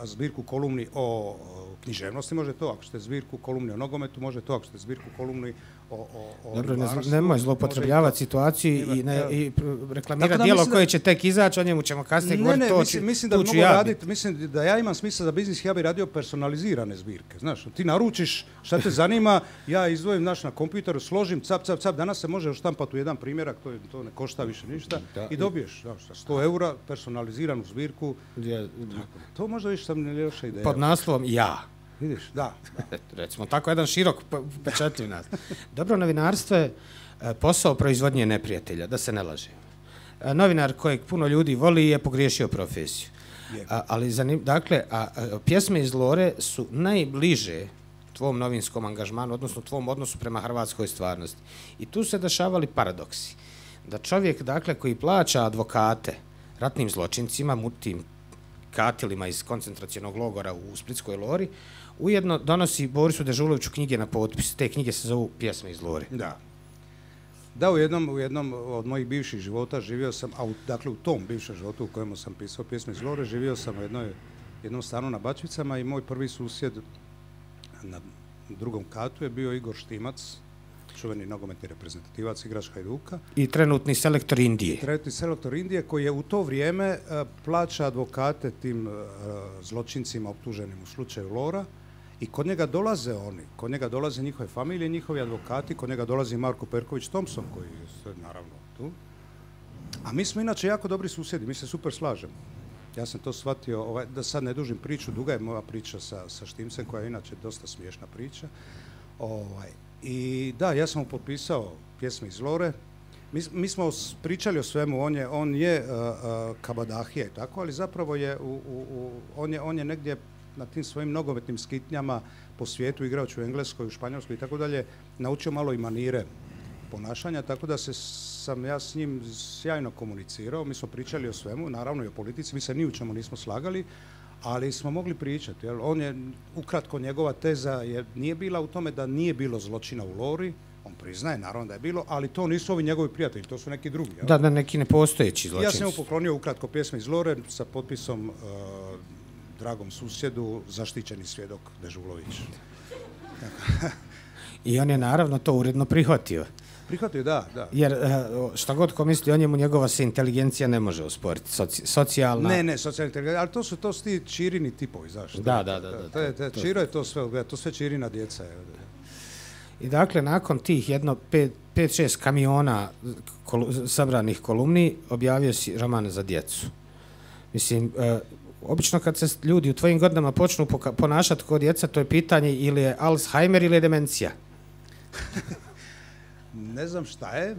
[SPEAKER 2] zbirku kolumni o književnosti, može to, ako ćete zbirku kolumni o nogometu, može to, ako ćete zbirku kolumni o
[SPEAKER 1] dobro, nemoj zloupotrebljavati situaciju i reklamirati dijelo koje će tek izaći, o njemu ćemo kasnije govoriti.
[SPEAKER 2] Mislim da mogu raditi, mislim da ja imam smisla za biznis, ja bih radio personalizirane zbirke. Znaš, ti naručiš šta te zanima, ja izdvojim na kompjuteru, složim, cap, danas se može štampati u jedan primjerak, to ne košta više ništa i dobiješ 100 eura personaliziranu zbirku. To možda više sam ne loša ideja.
[SPEAKER 1] Pod naslovom ja.
[SPEAKER 2] Vidiš, da.
[SPEAKER 1] Recimo, tako jedan širok pečatljiv nas. Dobro novinarstvo je posao proizvodnje neprijatelja, da se ne laže. Novinar kojeg puno ljudi voli je pogriješio profesiju. Dakle, pjesme iz Lore su najbliže tvom novinskom angažmanu, odnosno tvom odnosu prema hrvatskoj stvarnosti. I tu se dešavali paradoksi. Da čovjek, dakle, koji plaća advokate ratnim zločincima, tim katilima iz koncentracionog logora u Splitskoj Lori, ujedno donosi Borisu Dežuloviću knjige na potpis. Te knjige se zovu Pjesme iz Lore.
[SPEAKER 2] Da, u jednom od mojih bivših života živio sam, dakle u tom bivšem životu u kojemu sam pisao Pjesme iz Lore, živio sam u jednom stanu na Bačvicama i moj prvi susjed na drugom katu je bio Igor Štimac, čuveni nogometni reprezentativac, igrač Hajduka.
[SPEAKER 1] I trenutni selektor Indije.
[SPEAKER 2] Trenutni selektor Indije koji je u to vrijeme plaća advokate tim zločincima optuženim u slučaju Lora i kod njega dolaze njihove familije, njihovi advokati, kod njega dolazi Marko Perković Thompson koji je naravno tu. A mi smo inače jako dobri susjedi, mi se super slažemo. Ja sam to shvatio, da sad ne dužim priču, duga je moja priča sa Štimcem koja je inače dosta smiješna priča. I da, ja sam mu potpisao Pjesme iz Lore. Mi smo pričali o svemu, on je kabadahija i tako, ali zapravo je on je negdje na tim svojim nogometnim skitnjama po svijetu, igrač u Engleskoj, u Španjolskoj i tako dalje, naučio malo i manire ponašanja, tako da sam ja s njim sjajno komunicirao. Mi smo pričali o svemu, naravno i o politici, mi se ni u čemu nismo slagali, ali smo mogli pričati. Jel? On je, ukratko, njegova teza nije bila u tome da nije bilo zločina u Lori, on priznaje, naravno da je bilo, ali to nisu ovi njegovi prijatelji, to su neki drugi. Jel?
[SPEAKER 1] Da, neki nepostojeći zločinci.
[SPEAKER 2] Ja sam mu poklonio ukratko pjesme iz Lore sa potpisom dragom susjedu, zaštićeni svjedok Dežulović.
[SPEAKER 1] I on je naravno to uredno prihvatio.
[SPEAKER 2] Prihvatio, da.
[SPEAKER 1] Jer šta god ko misli o njemu, njegova se inteligencija ne može osporiti. Socijalna...
[SPEAKER 2] Ne, socijalna inteligencija, ali to su ti Čirini tipovi, zašto?
[SPEAKER 1] Da.
[SPEAKER 2] Čiro je to sve Čirina djeca.
[SPEAKER 1] I dakle, nakon tih 5-6 kamiona sabranih kolumni, objavio si roman za djecu. Mislim, obično kad se ljudi u tvojim godinama počnu ponašati kao djeca, to je pitanje ili je Alzheimer ili je demencija.
[SPEAKER 2] Ne znam šta je.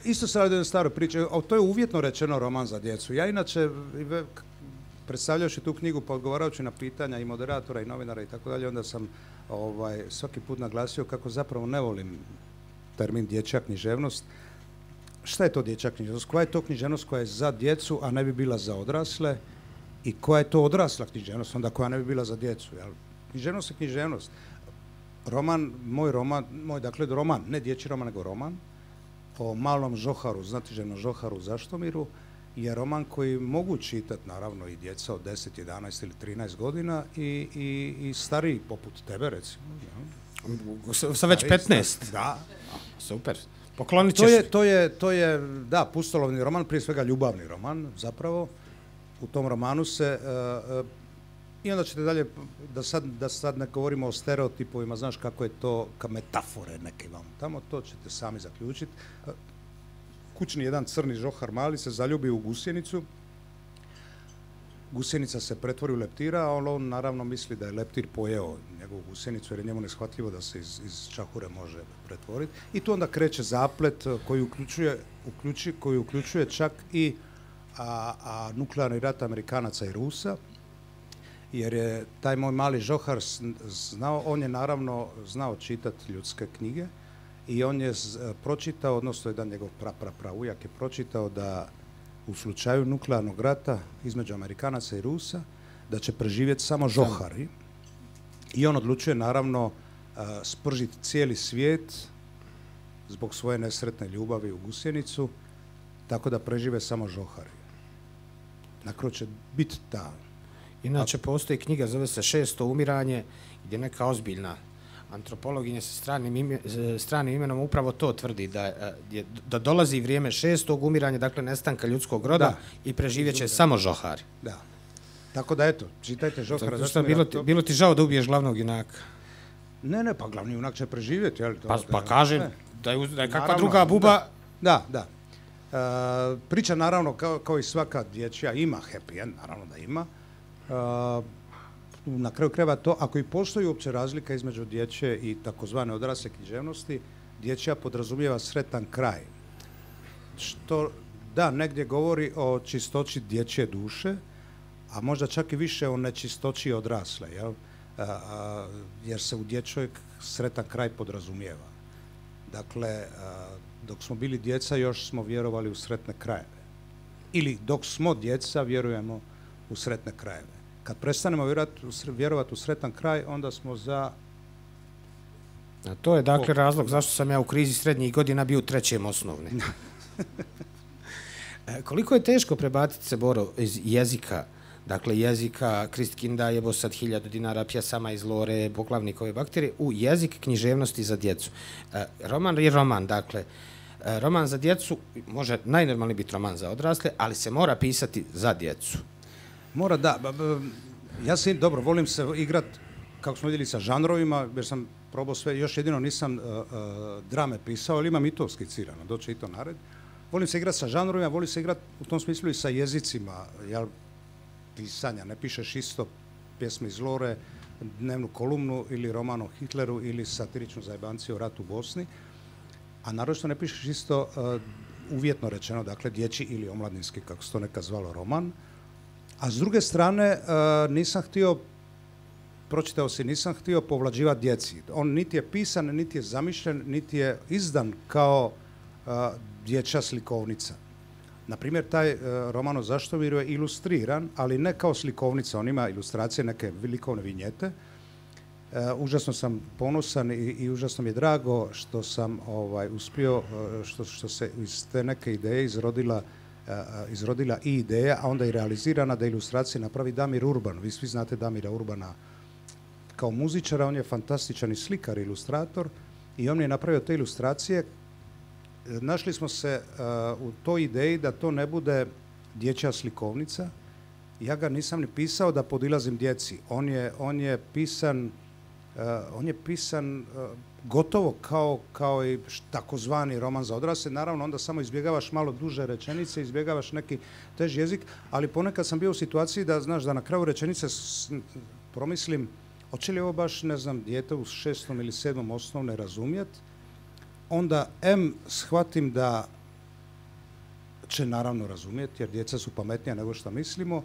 [SPEAKER 2] Isto se radi o staroj priči. To je uvjetno rečeno roman za djecu. Ja inače, predstavljajući tu knjigu, pa odgovarajući na pitanja i moderatora i novinara i tako dalje, onda sam svaki put naglasio kako zapravo ne volim termin dječja književnost. Šta je to dječja književnost? Koja je to književnost koja je za djecu, a ne bi bila za odrasle? I koja je to odrasla književnost, onda koja ne bi bila za djecu? Jel? Književnost je književnost. Moj roman, ne dječji roman, nego roman, o malom žoharu, znatiželjnom žoharu Zaštomiru, je roman koji mogu čitati, naravno, i djeca od 10, 11 ili 13 godina i stariji, poput tebe, recimo. Ja.
[SPEAKER 1] Sa već 15?
[SPEAKER 2] Da.
[SPEAKER 1] Super. Poklonit ćeš.
[SPEAKER 2] To je, da, pustolovni roman, prije svega ljubavni roman, zapravo. U tom romanu se... I onda ćete dalje, da sad ne govorimo o stereotipovima, znaš kako je to, ka metafore neke vam tamo, to ćete sami zaključiti. Kućni jedan crni žohar mali se zaljubi u gusjenicu, gusjenica se pretvori u leptira, a on naravno misli da je leptir pojeo njegovu gusjenicu jer je njemu neshvatljivo da se iz čahure može pretvoriti. I tu onda kreće zaplet koji uključuje čak i nuklearni rat Amerikanaca i Rusa, jer je taj moj mali žohar znao, on je naravno znao čitati ljudske knjige i on je pročitao, odnosno jedan njegov praujak je pročitao da u slučaju nuklearnog rata između Amerikanaca i Rusa da će preživjeti samo žohari i on odlučuje naravno spržiti cijeli svijet zbog svoje nesretne ljubavi u gusjenicu, tako da prežive samo žohari. Na kraju će biti ta.
[SPEAKER 1] Inače, postoji knjiga, zove se 600 umiranje, gdje neka ozbiljna antropologinja sa stranim imenom upravo to tvrdi, da dolazi vrijeme 600 umiranja, dakle nestanka ljudskog roda i preživjet će samo žohari.
[SPEAKER 2] Da. Tako da, eto, čitajte žohara.
[SPEAKER 1] Bilo ti žao da ubiješ glavnog junaka?
[SPEAKER 2] Ne, pa glavni junak će preživjeti.
[SPEAKER 1] Pa kažem, da je kakva druga buba...
[SPEAKER 2] Da. Priča, naravno, kao i svaka dječja, ima happy end, naravno da ima. Na kraju krajeva to, ako i postoji uopće razlika između dječje i takozvane odrasle književnosti, dječja podrazumijeva sretan kraj. Što, da, negdje govori o čistoći dječje duše, a možda čak i više o nečistoći odrasle, jel? Jer se u dječjoj sretan kraj podrazumijeva. Dakle, dok smo bili djeca, još smo vjerovali u sretne krajeve. Ili dok smo djeca, vjerujemo u sretne krajeve. Kad prestanemo vjerovati u sretan kraj, onda smo za...
[SPEAKER 1] A to je dakle razlog zašto sam ja u krizi srednjih godina bio u 3. osnovne. Koliko je teško prebaciti se, Boro, iz jezika, dakle jezika Kristkinda, jebo sad 1000 dinara, pjesama iz Lore, poglavnikove bakterije, u jezik književnosti za djecu. Roman je roman, dakle, roman za djecu može najnormalniji biti roman za odrasle, ali se mora pisati za djecu.
[SPEAKER 2] Mora, da. Ja se, dobro, volim se igrat, kako smo vidjeli, sa žanrovima, jer sam probao sve, još jedino nisam drame pisao, ali imam i to skicirano, doće i to nared. Volim se igrati sa žanrovima, volim se igrati u tom smislu i sa jezicima, jel, pisanja. Ne pišeš isto pjesme iz Lore, dnevnu kolumnu ili roman o Hitleru ili satiričnu zajebanciju o ratu u Bosni, a naročito ne pišeš isto uvjetno rečeno, dakle dječji ili omladinski, kako se to nekad zvalo, roman. A s druge strane, nisam htio povlađivati djeci. On niti je pisan, niti je zamišljen, niti je izdan kao dječja slikovnica. Na primjer, taj roman o Zaštomiru je ilustriran, ali ne kao slikovnica, on ima ilustracije, neke likovne vinjete. Užasno sam ponosan i užasno mi je drago što sam uspio, što se iz te neke ideje izrodila i ideja, a onda i realizirana da ilustracije napravi Damir Urban. Vi svi znate Damira Urbana kao muzičara, on je fantastičan i slikar, ilustrator i on je napravio te ilustracije. Našli smo se u toj ideji da to ne bude dječja slikovnica. Ja ga nisam ni pisao da podilazim djeci. On je pisan gotovo kao i takozvani roman za odrasle. Naravno, onda samo izbjegavaš malo duže rečenice, izbjegavaš neki teži jezik, ali ponekad sam bio u situaciji da, znaš, da na kraju rečenice promislim hoće li ovo baš, ne znam, dijete u 6. ili 7. osnovne razumjeti. Onda shvatim da će naravno razumjeti, jer djeca su pametnija nego što mislimo,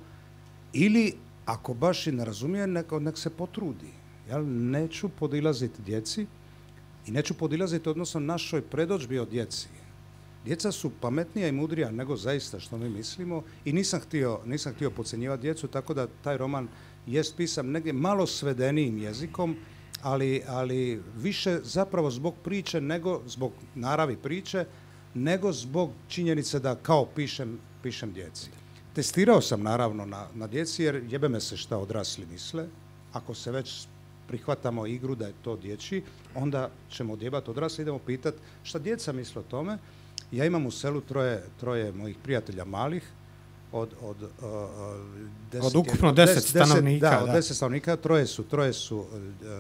[SPEAKER 2] ili ako baš i ne razumije, nek se potrudi. Ja neću podilaziti djeci i neću podilaziti odnosno našoj predodžbi o djeci. Djeca su pametnija i mudrija nego zaista što mi mislimo i nisam htio podcjenjivati djecu, tako da taj roman jest pisan negdje malo svedenijim jezikom, ali više zapravo zbog priče, nego zbog naravi priče, nego zbog činjenice da kao pišem djeci. Testirao sam naravno na djeci jer jebe me se šta odrasli misle. Ako se već prihvatamo igru da je to dječji, onda ćemo odjebati odrasli, idemo pitati šta djeca misle o tome. Ja imam u selu troje mojih prijatelja malih, od
[SPEAKER 1] ukupno 10 stanovnika.
[SPEAKER 2] Da, od 10 stanovnika, troje su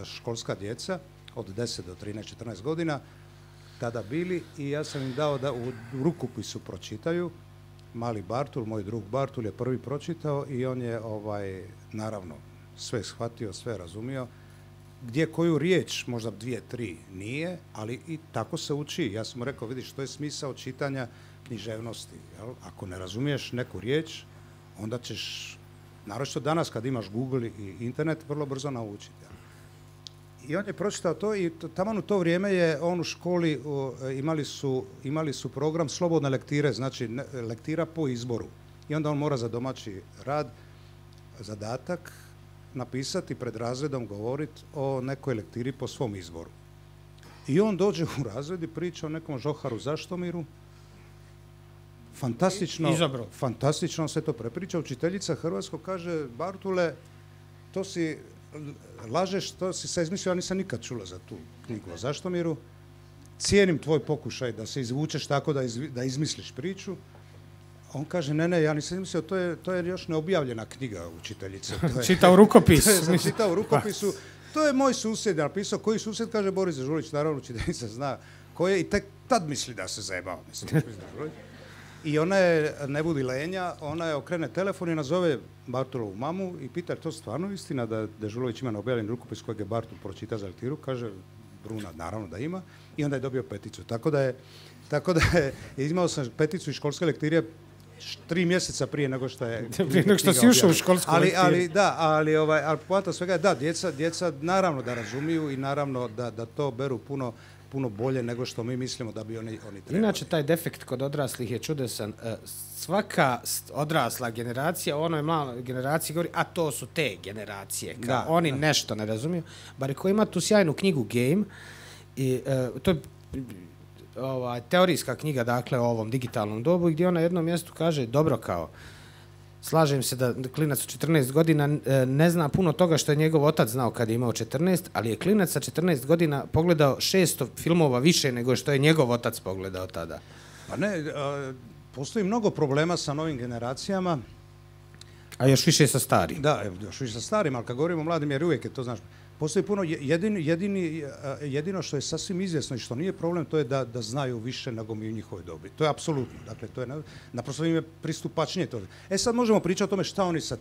[SPEAKER 2] školska djeca, od 10 do 13-14 godina, tada bili i ja sam im dao da u rukopisu pročitaju. Mali Bartul, moj drug Bartul je prvi pročitao i on je naravno sve shvatio, sve razumio. Gdje koju riječ, možda 2-3 nije, ali i tako se uči. Ja sam mu rekao, vidiš, to je smisao čitanja književnosti. Jel? Ako ne razumiješ neku riječ, onda ćeš, naročito danas kad imaš Google i internet, vrlo brzo naučiti. Jel? I on je pročitao to i taman u to vrijeme je on u školi, imali su program slobodne lektire, znači lektira po izboru. I onda on mora za domaći rad, zadatak, napisati pred razredom, govoriti o nekoj lektiri po svom izboru. I on dođe u razred i priča o nekom Žoharu Zaštomiru. Fantastično se to prepriča. Učiteljica hrvatskog kaže, Bartule, to si lažeš, to si se izmislio, ja nisam nikad čula za tu knjigu o Zaštomiru. Cijenim tvoj pokušaj da se izvučeš tako da izmisliš priču. On kaže, ne, ja nisam mislio, to je još neobjavljena knjiga učiteljice.
[SPEAKER 1] Čitao rukopis.
[SPEAKER 2] Čitao u rukopisu. To je moj susjed napisao. Koji susjed? Kaže Boris Dežulić, naravno učiteljica zna ko je i tek tad misli da se zajebao. I ona je, ne budi lenja, ona je okrene telefon i nazove Bartulovu mamu i pita, je to stvarno istina da Dežulović ima neobjavljen rukopis kojeg je Bartul pročita za lektiru? Kaže, Bruna, naravno da ima. I onda je dobio peticu. Tako da je imao sam peticu iz školske lektire 3 mjeseca prije nego što je
[SPEAKER 1] prije nego što si ušao u školsku lektiru.
[SPEAKER 2] Ali poanta svega je da, djeca naravno da razumiju i naravno da to beru puno bolje nego što mi mislimo da bi oni trebali.
[SPEAKER 1] Inače, taj defekt kod odraslih je čudesan. Svaka odrasla generacija u onoj maloj generaciji govori, a to su te generacije. Oni nešto ne razumiju. Bar ko ima tu sjajnu knjigu Game, i to je teorijska knjiga, dakle, o ovom digitalnom dobu, gdje on na jednom mjestu kaže, dobro, kao, slažem se da klinac od 14 godina ne zna puno toga što je njegov otac znao kad je imao 14, ali je klinac sa 14 godina pogledao 600 filmova više nego što je njegov otac pogledao tada.
[SPEAKER 2] Pa ne, postoji mnogo problema sa novim generacijama.
[SPEAKER 1] A još više sa starim.
[SPEAKER 2] Da, još više sa starim, ali kad govorimo o mladim, jer uvijek je to, znaš, postoji puno, jedino što je sasvim izvjesno i što nije problem, to je da znaju više nego mi u njihovoj dobi. To je apsolutno. Dakle, to je naprosto im je pristupačnije to. Sad možemo pričati o tome šta oni sa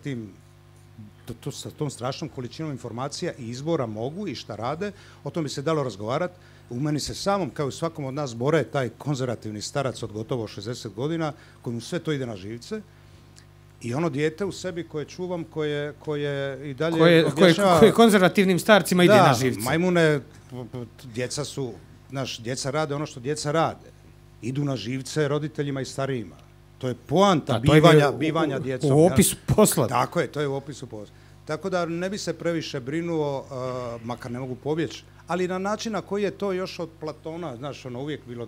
[SPEAKER 2] tom strašnom količinom informacija i izbora mogu i šta rade. O tom bi se dalo razgovarati. U meni se samom, kao i svakom od nas, bore taj konzervativni starac od gotovo 60 godina, kojemu sve to ide na živce. I ono dijete u sebi koje čuvam, koje i dalje objašnjava...
[SPEAKER 1] Koje konzervativnim starcima ide na živce.
[SPEAKER 2] Majmune, djeca rade ono što djeca rade. Idu na živce roditeljima i starijima. To je poanta bivanja djecom.
[SPEAKER 1] U opisu posla.
[SPEAKER 2] Tako je, to je u opisu posla. Tako da ne bi se previše brinuo, makar ne mogu pobjeći, ali na način na koji je to još od Platona, znaš, ono uvijek bilo,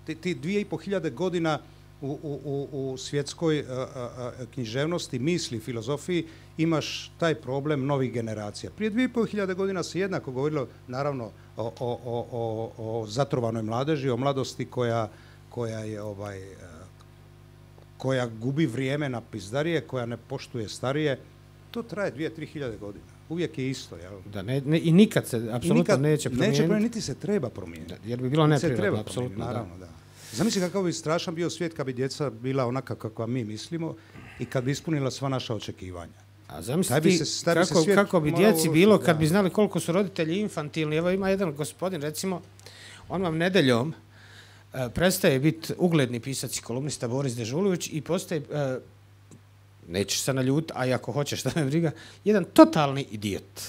[SPEAKER 2] ti 2500 godina u svjetskoj književnosti, misli, filozofiji, imaš taj problem novih generacija. Prije 2500 godina se jednako govorilo, naravno, o zatrovanoj mladeži, o mladosti koja gubi vrijeme na pizdarije, koja ne poštuje starije. To traje 2-3 godina. Uvijek je isto. Jel?
[SPEAKER 1] Da, i nikad se apsolutno neće promijeniti.
[SPEAKER 2] Niti se treba promijeniti.
[SPEAKER 1] Jer bi bilo neprirodno, apsolutno.
[SPEAKER 2] Naravno, da. Zamisli kakav bi strašan bio svijet kad bi djeca bila onaka kakva mi mislimo i kad bi ispunila sva naša očekivanja.
[SPEAKER 1] A zamisli kako bi djeci bilo kad bi znali koliko su roditelji infantilni. Evo ima jedan gospodin, recimo, on vam nedeljom prestaje biti ugledni pisac i kolumnista Boris Dežulović i postaje, nećeš se naljutiti, a i ako hoćeš, šta me briga, jedan totalni idiot.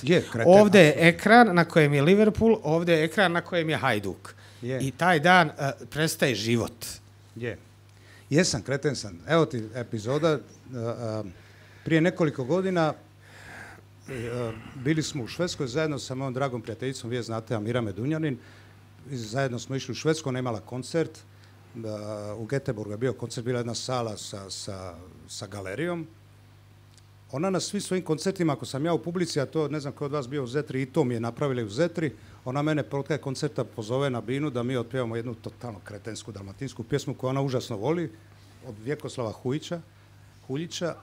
[SPEAKER 1] Ovdje je ekran na kojem je Liverpool, ovdje je ekran na kojem je Hajduk. I taj dan prestaje život.
[SPEAKER 2] Jesam, kreten sam. Evo ti epizoda. Prije nekoliko godina bili smo u Švedskoj zajedno sa mojom dragom prijateljicom, vi je znate, Amira Medunjanin. Zajedno smo išli u Švedsku, ona je imala koncert. U Göteborgu je bio koncert, bila jedna sala sa galerijom. Ona na svim svojim koncertima, ako sam ja u publici, a to ne znam ko od vas bio u Zetri, i to mi je napravili u Zetri, ona mene pod kraj koncerta pozove na binu da mi otpjevamo jednu totalno kretensku dalmatinsku pjesmu koju ona užasno voli, od Vjekoslava Huljića.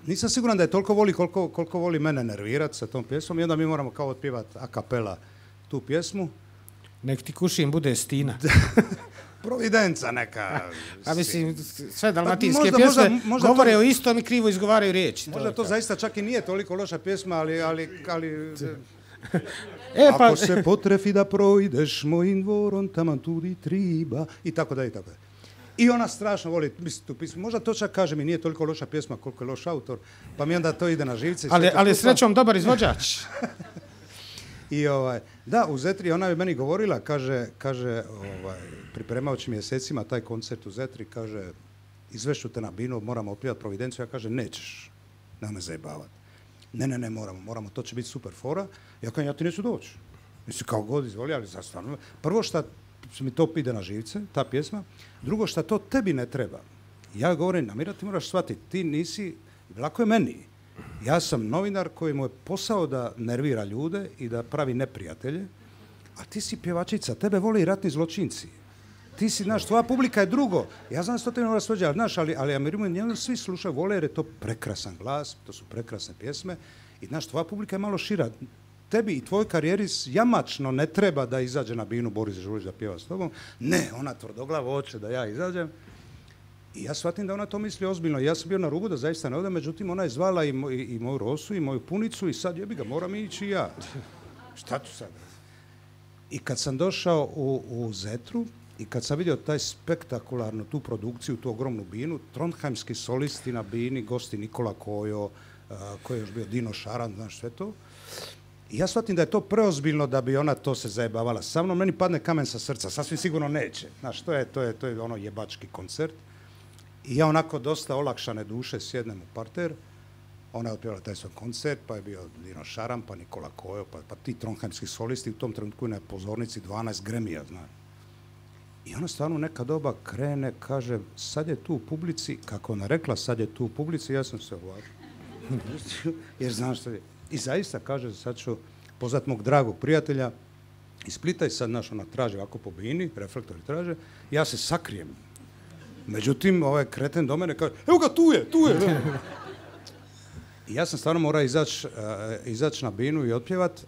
[SPEAKER 2] Nisam siguran da je toliko voli koliko voli mene nervirati sa tom pjesmom i onda mi moramo kao otpjevati a kapela tu pjesmu.
[SPEAKER 1] Nek ti kušim bude Stina.
[SPEAKER 2] Providenca neka.
[SPEAKER 1] A mislim, sve dalmatinske pjesme govore o istom i krivo izgovaraju riječi.
[SPEAKER 2] Možda to zaista čak i nije toliko loša pjesma, ali ako se potrefi da projdeš mojim dvorom, taman tudi triba, i tako da, i tako da. I ona strašno voli tu pismu. Možda to čak kaže mi nije toliko loša pjesma koliko je loš autor, pa mi onda to ide na živce.
[SPEAKER 1] Ali srećom dobar izvođač.
[SPEAKER 2] I da, u Zetri ona je meni govorila, kaže pripremajući mjesecima taj koncert u Zetri, kaže, izvešću te na binu, moramo otpjevati Providenciju. Ja kaže, nećeš, ne zajebavati. Ne, moramo, to će biti super fora. Ja kažem, ja ti neću doći. Mislim, kao god izvoli, ali zastavno. Prvo što mi to ide na živce, ta pjesma. Drugo što to tebi ne treba. Ja govorim, Amira, ti moraš shvatiti, ti nisi, lako je meni. Ja sam novinar koji mu je posao da nervira ljude i da pravi neprijatelje, a ti si pjevačica, tebe vole i ratni zločinci. Ti si, znaš, tvoja publika je drugo. Ja znam što te ne mora svađati, znaš, ali Amiru njemu svi slušaju, vole jer je to prekrasan glas, to su prekrasne pjesme i, znaš, tvoja publika je malo šira. Tebi i tvoj karijeri jamačno ne treba da izađe na binu Boris Dežulović da pjeva s tobom. Ne, ona tvrdoglavo hoće da ja izađem. I ja shvatim da ona to misli ozbiljno. Ja sam bio na rubu da zaista ne odem, međutim ona je zvala i moju Rosu i moju Punicu i sad jebi ga, moram ići i ja. Šta ću sad? I kad sam došao u Zetru i kad sam vidio taj spektakularnu tu produkciju, tu ogromnu binu, trondheimski solisti na bini, gosti Nikola Kojo, koji je još bio Dino Šaran, znaš sve to. I ja shvatim da je to preozbiljno da bi ona to se zajebavala sa mnom. Meni padne kamen sa srca, sasvim sigurno neće. Znaš, to je ono jebački koncert. I ja onako dosta olakšane duše sjednem u parter, ona je otpjevala taj svoj koncert, pa je bio Dino Šaran, pa Nikola Kojo, pa ti trondheimski solisti, u tom trenutku na pozornici 12 Gremija, znaš. I ona stvarno neka doba krene, kaže, sad je tu u publici, kako ona rekla, sad je tu u publici, ja sam se uvažio, jer znam što je. I zaista, kaže, sad ću pozvati mog dragog prijatelja iz Splita i sad, znaš, ona traži ovako po bini, reflektori traže, ja se sakrijem. Međutim, ovaj kreten do mene kaže, evo ga, tu je. I ja sam stvarno morao izaći na binu i otpjevat.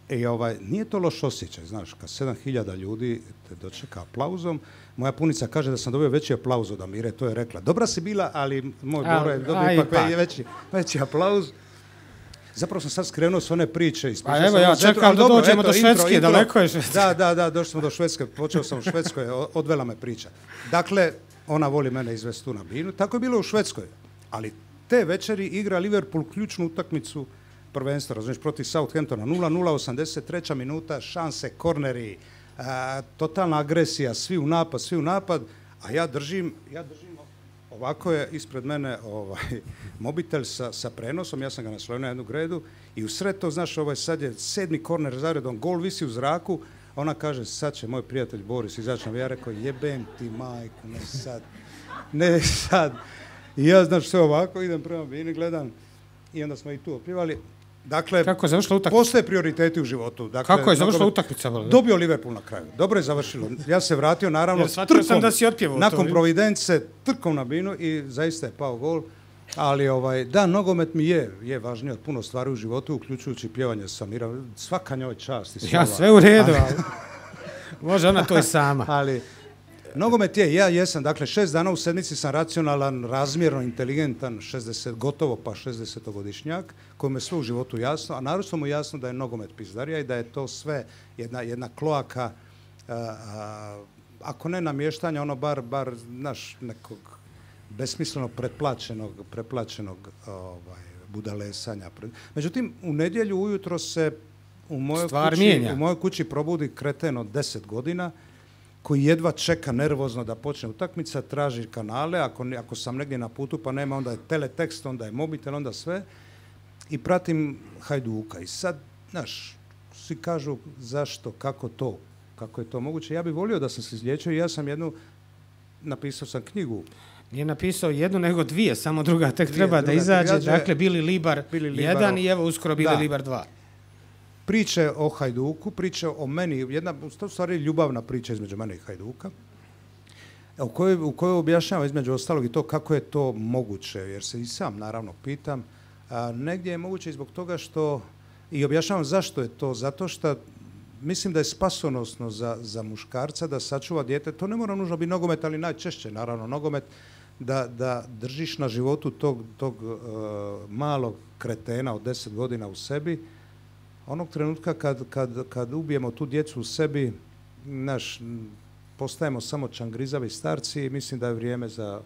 [SPEAKER 2] I nije to loš osjećaj, znaš, kad 7000 ljudi te dočeka aplauzom. Moja Punica kaže da sam dobio veći aplauz od Amire, to je rekla. Dobra si bila, ali moj Boro je dobio ipak veći aplauz. Zapravo sam sad skrenuo s one priče.
[SPEAKER 1] A evo, ja čekam da dođemo do Švedske, daleko je Švedska.
[SPEAKER 2] Da, došli smo do Švedske, počeo sam u Švedskoj, odvela me priča. Dakle, ona voli mene izvesti tu na binu, tako je bilo u Švedskoj. Ali te večeri igra Liverpool ključnu utakmicu prvenstva, razumiješ, protiv Southamptona, 0-0, 83. minuta, šanse, korneri, totalna agresija, svi u napad, a ja držim ovako je ispred mene mobitel sa prenosom, ja sam ga naslonio na jednu gredu i u sred to, znaš, sad je 7. korner zaredom, gol visi u zraku, ona kaže, sad će moj prijatelj Boris izaći na, ja rekao, jebem ti majku, ne sad. I ja, znaš, sve ovako, idem prema bini, gledam i onda smo i tu otpjevali. Dakle,
[SPEAKER 1] kako je završila utakmica?
[SPEAKER 2] Postoje prioriteti u životu. Dakle,
[SPEAKER 1] kako je završila utakmica?
[SPEAKER 2] Dobio Liverpool na kraju. Dobro je završilo. Ja se vratio, naravno,
[SPEAKER 1] trkom, da si otpjevao
[SPEAKER 2] nakon Providence, trkom na binu i zaista je pao gol. Ali, da, nogomet mi je važniji od puno stvari u životu, uključujući pjevanje Samira. Svaka njoj čast i slava.
[SPEAKER 1] Ja, sve u redu, ali može ona to i sama.
[SPEAKER 2] Ali, nogomet ja jesam, dakle 6 dana u sedmici sam racionalan, razmjerno inteligentan, gotovo pa 60-godišnjak, kojemu je sve u životu jasno, a naročito mu jasno da je nogomet pizdarija i da je to sve jedna kloaka, ako ne namještanja, ono bar naš nekog besmisleno preplaćenog budalesanja. Međutim, u nedjelju ujutro se u mojoj kući probudi kreten od 10 godina, koji jedva čeka nervozno da počne utakmica, traži kanale, ako sam negdje na putu pa nema, onda je teletekst, onda je mobitel, onda sve, i pratim Hajduka. I sad, znaš, svi kažu zašto, kako je to moguće. Ja bih volio da sam se izliječio i ja sam napisao sam knjigu.
[SPEAKER 1] Nije napisao jednu, nego dvije, samo druga tek treba da izađe. Dakle, Bili Libar 1 i evo uskoro Bili Libar 2.
[SPEAKER 2] Priče o Hajduku, priče o meni, jedna u stvari ljubavna priča između mene i Hajduka, u kojoj objašnjavam između ostalog i to kako je to moguće, jer se i sam naravno pitam. Negdje je moguće i zbog toga što, i objašnjavam zašto je to, zato što mislim da je spasonosno za muškarca da sačuva dijete, to ne mora nužno biti nogomet, ali najčešće naravno nogomet, da držiš na životu tog malog kretena od 10 godina u sebi. Onog trenutka kad ubijemo tu djecu u sebi, postajemo samo čangrizavi starci i mislim da je vrijeme za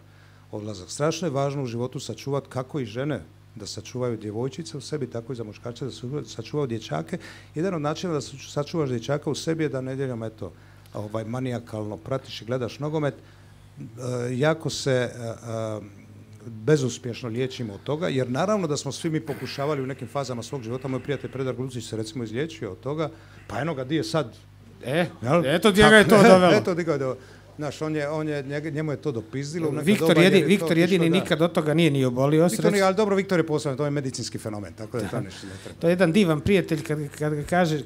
[SPEAKER 2] odlazak. Strašno je važno u životu sačuvati kako i žene da sačuvaju djevojčice u sebi, tako i za muškarce da sačuvaju dječake. Jedan od načina da sačuvaš dječaka u sebi je da nedjeljom manijakalno pratiš i gledaš nogomet. Jako se bezuspješno liječimo od toga, jer naravno da smo svi mi pokušavali u nekim fazama svog života. Moj prijatelj Predrag Lucić se recimo izliječio od toga, pa eno ga di je sad.
[SPEAKER 1] Eto gdje ga je to dovelo.
[SPEAKER 2] Eto gdje ga je dovelo. Znaš, njemu je to dopizdilo.
[SPEAKER 1] Viktor jedini nikad od toga nije ni obolio.
[SPEAKER 2] Ali dobro, Viktor je posebno, to je medicinski fenomen, tako da to nešto ne treba.
[SPEAKER 1] To je jedan divan prijatelj,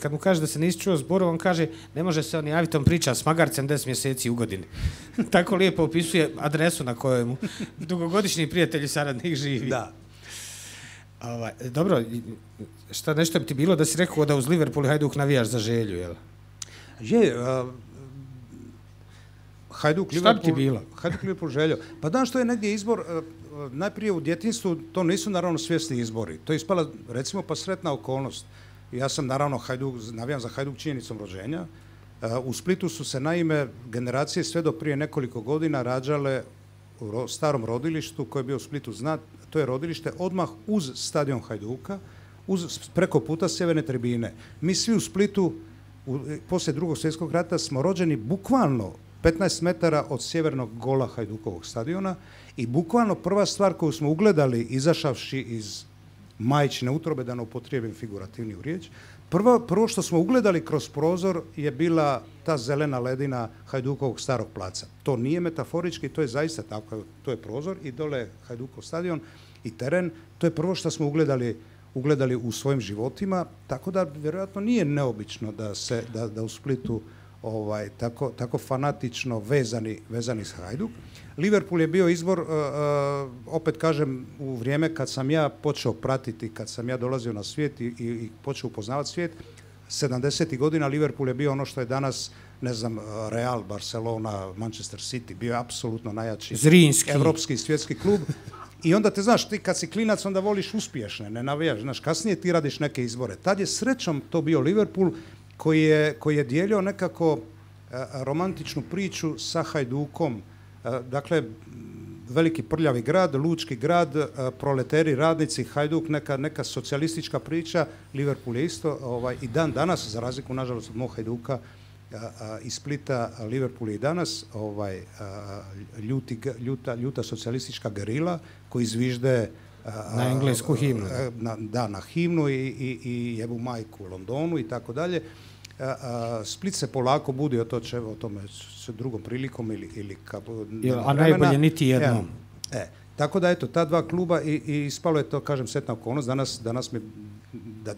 [SPEAKER 1] kad mu kaže da se nisi čuo zboru, on kaže, ne može se on javiti, on priča s magarcem 10 mjeseci u godini. Tako lijepo opisuje adresu na kojoj mu dugogodišnji prijatelj i saradnik živi.
[SPEAKER 2] Da.
[SPEAKER 1] Dobro, nešto bi ti bilo da si rekao da uz Liverpool i Hajduk navijaš za Želju, jel?
[SPEAKER 2] Hajduk Liverpool Željo. Pa danas što je negdje izbor, najprije u djetinjstvu, to nisu naravno svjesni izbori. To je ispala, recimo, pa sretna okolnost. Ja sam naravno navijam za Hajduk činjenicom rođenja. U Splitu su se naime generacije sve do prije nekoliko godina rađale u starom rodilištu koje je bio u Splitu znat. To je rodilište odmah uz stadion Hajduka, preko puta sjeverne tribine. Mi svi u Splitu poslije Drugog svjetskog rata smo rođeni bukvalno 15 metara od sjevernog gola Hajdukovog stadiona i bukvalno prva stvar koju smo ugledali izašavši iz majčine utrobe, da ne upotrijebim figurativniju riječ, prvo što smo ugledali kroz prozor je bila ta zelena ledina Hajdukovog starog placa. To nije metaforički, to je zaista tako, to je prozor i dole je Hajdukov stadion i teren, to je prvo što smo ugledali u svojim životima, tako da vjerojatno nije neobično da u Splitu tako fanatično vezani s Hajduk. Liverpool je bio izbor, opet kažem, u vrijeme kad sam ja počeo pratiti, kad sam ja dolazio na svijet i počeo upoznavati svijet, 70. godina Liverpool je bio ono što je danas, ne znam, Real, Barcelona, Manchester City, bio je apsolutno najjači evropski svjetski klub. I onda te, znaš, ti kad si klinac onda voliš uspješne, ne navijaš, znaš, kasnije ti radiš neke izbore. Tad je srećom to bio Liverpool koji je dijelio nekako romantičnu priču sa Hajdukom. Dakle, veliki prljavi grad, lučki grad, proleteri, radnici, Hajduk, neka socijalistička priča. Liverpool je isto i dan danas, za razliku nažalost od mog Hajduka, iz Splita, Liverpool i danas, ljuta socijalistička gerila koji zvižde
[SPEAKER 1] na englesku himnu.
[SPEAKER 2] Na himnu i jebu majku u Londonu i tako dalje. Split se polako budi, o tome s drugom prilikom ili
[SPEAKER 1] a najbolje niti jednom.
[SPEAKER 2] Tako da eto, ta dva kluba i ispalo je to, kažem, sretna okolnost,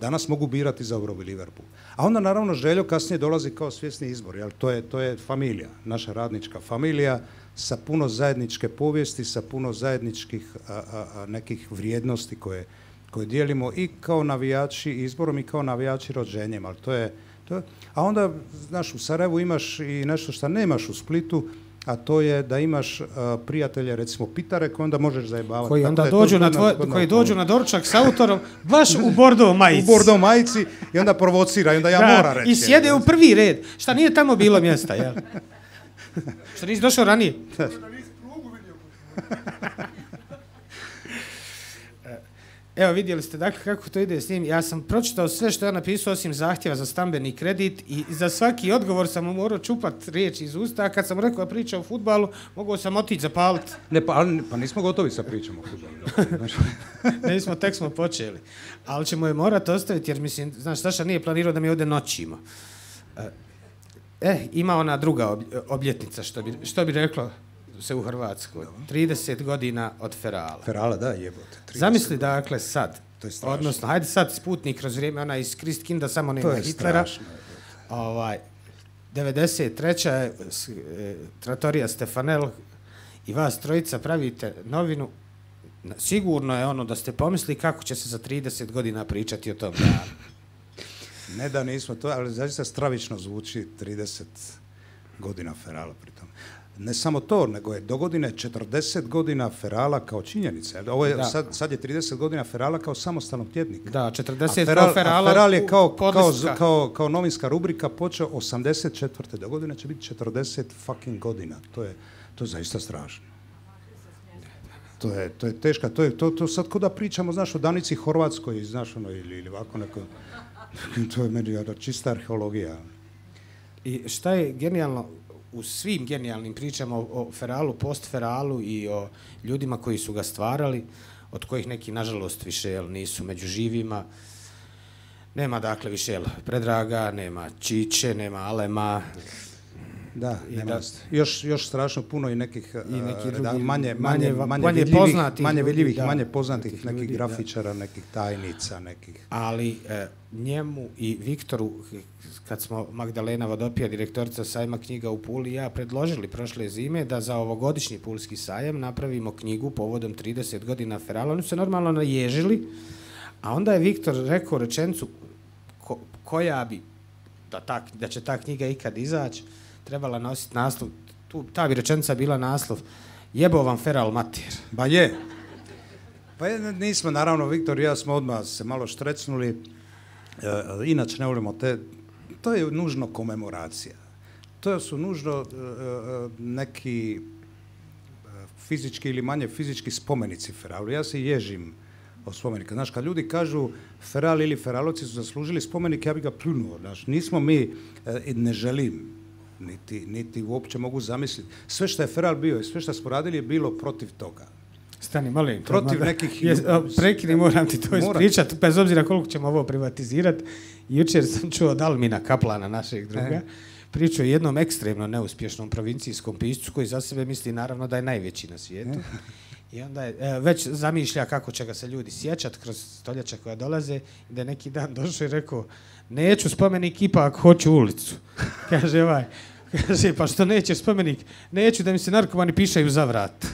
[SPEAKER 2] danas mogu birati za Eurobu i Liverpool. A onda naravno Željo kasnije dolazi kao svjesni izbor, jel? To je familija, naša radnička familija sa puno zajedničke povijesti, sa puno zajedničkih nekih vrijednosti koje dijelimo i kao navijači izborom i kao navijači rođenjem, ali to je. A onda, znaš, u Sarajevu imaš i nešto što nemaš u Splitu, a to je da imaš prijatelje, recimo Pitare, koji onda možeš zajebavati.
[SPEAKER 1] Koji onda dođu na doručak s autorom, baš u bordo majici.
[SPEAKER 2] U bordo majici i onda provocira, i onda ja moram reći.
[SPEAKER 1] I sjede u prvi red. Šta nije tamo bilo mjesta, jel? Što nisi došao ranije? Evo, vidjeli ste dakle kako to ide s njim. Ja sam pročitao sve što je napisao osim zahtjeva za stambeni kredit i za svaki odgovor sam mu morao čupati riječi iz usta, a kad sam rekao priča o fudbalu, mogao sam otići zapaliti.
[SPEAKER 2] Pa nismo gotovi sa pričom o fudbalu.
[SPEAKER 1] Nismo, tek smo počeli. Ali ćemo je morati ostaviti jer mislim, znaš, Saša nije planirao da mi ovdje noćimo. Ima ona druga obljetnica, što bi reklo se u Hrvatskoj. 30 godina od Ferala.
[SPEAKER 2] Ferala, da, jebote.
[SPEAKER 1] Zamisli dakle sad,
[SPEAKER 2] to je strašno.
[SPEAKER 1] Odnosno, hajde sad Sputnik kroz vrijeme, ona iz Kristkinda, samo nema Hitlera. 93. je Trattoria Stefanel i vas trojica pravite novinu. Sigurno je ono da ste pomislili kako će se za 30 godina pričati o tom danu.
[SPEAKER 2] Ne da nismo to, ali zaista stravično zvuči 30 godina Ferala pritom. Ne samo to, nego je do godine 40 godina Ferala kao činjenica. Ovo je, sad je 30 godina Ferala kao samostalnog tjednika.
[SPEAKER 1] Da, 40 kao Ferala.
[SPEAKER 2] Feral je kao novinska rubrika počeo 84. Do godine će biti 40 fucking godina. To je zaista strašno. To je teška. To sad ko da pričamo, znaš, o Danici Horvatskoj, znaš, ono, ili ovako neko. To je meni čista arheologija.
[SPEAKER 1] I šta je genijalno u svim genijalnim pričama o Feralu, post-Feralu i o ljudima koji su ga stvarali, od kojih neki, nažalost, više nisu među živima. Nema, dakle, više Predraga, nema Čiče, nema Alema.
[SPEAKER 2] Da, još strašno puno i nekih manje vidljivih, manje poznatih nekih grafičara, nekih tajnica, nekih.
[SPEAKER 1] Ali njemu i Viktoru, kad smo Magdalena Vodopija, direktorica sajma knjiga u Puli, ja predložili prošle zime da za ovogodišnji pulski sajam napravimo knjigu povodom 30 godina Ferala. Oni su se normalno naježili, a onda je Viktor rekao rečenicu koja bi, da će ta knjiga ikad izaći, trebala nositi naslov, ta bi rečenica bila naslov jebo vam Feral mater.
[SPEAKER 2] Ba je. Pa nismo, naravno, Viktor i ja smo odmah se malo štrecnuli, inače ne volimo to je nužno komemoracija. To su nužno neki fizički ili manje fizički spomenici Feralu. Ja se ježim od spomenika. Znaš, kad ljudi kažu Feral ili Feralovci su zaslužili spomenik, ja bi ga pljunuo. Znaš, nismo mi, ne želim, niti uopće mogu zamisliti. Sve što je Feral bio i sve što smo radili je bilo protiv toga.
[SPEAKER 1] Stani, molim.
[SPEAKER 2] Protiv nekih...
[SPEAKER 1] Prekini, moram ti to ispričati, bez obzira koliko ćemo ovo privatizirati. Jučer sam čuo od Almina Kaplana, našeg druga, priču o jednom ekstremno neuspješnom provincijskom piscu koji za sebe misli naravno da je najveći na svijetu. I onda je, već zamišlja kako će ga se ljudi sjećati kroz stoljeća koja dolaze i da je neki dan došao i rekao neću spomenik, ipak hoću ulicu. Kaže pa što nećeš spomenik? Neću da mi se narkomani pišaju za vrat.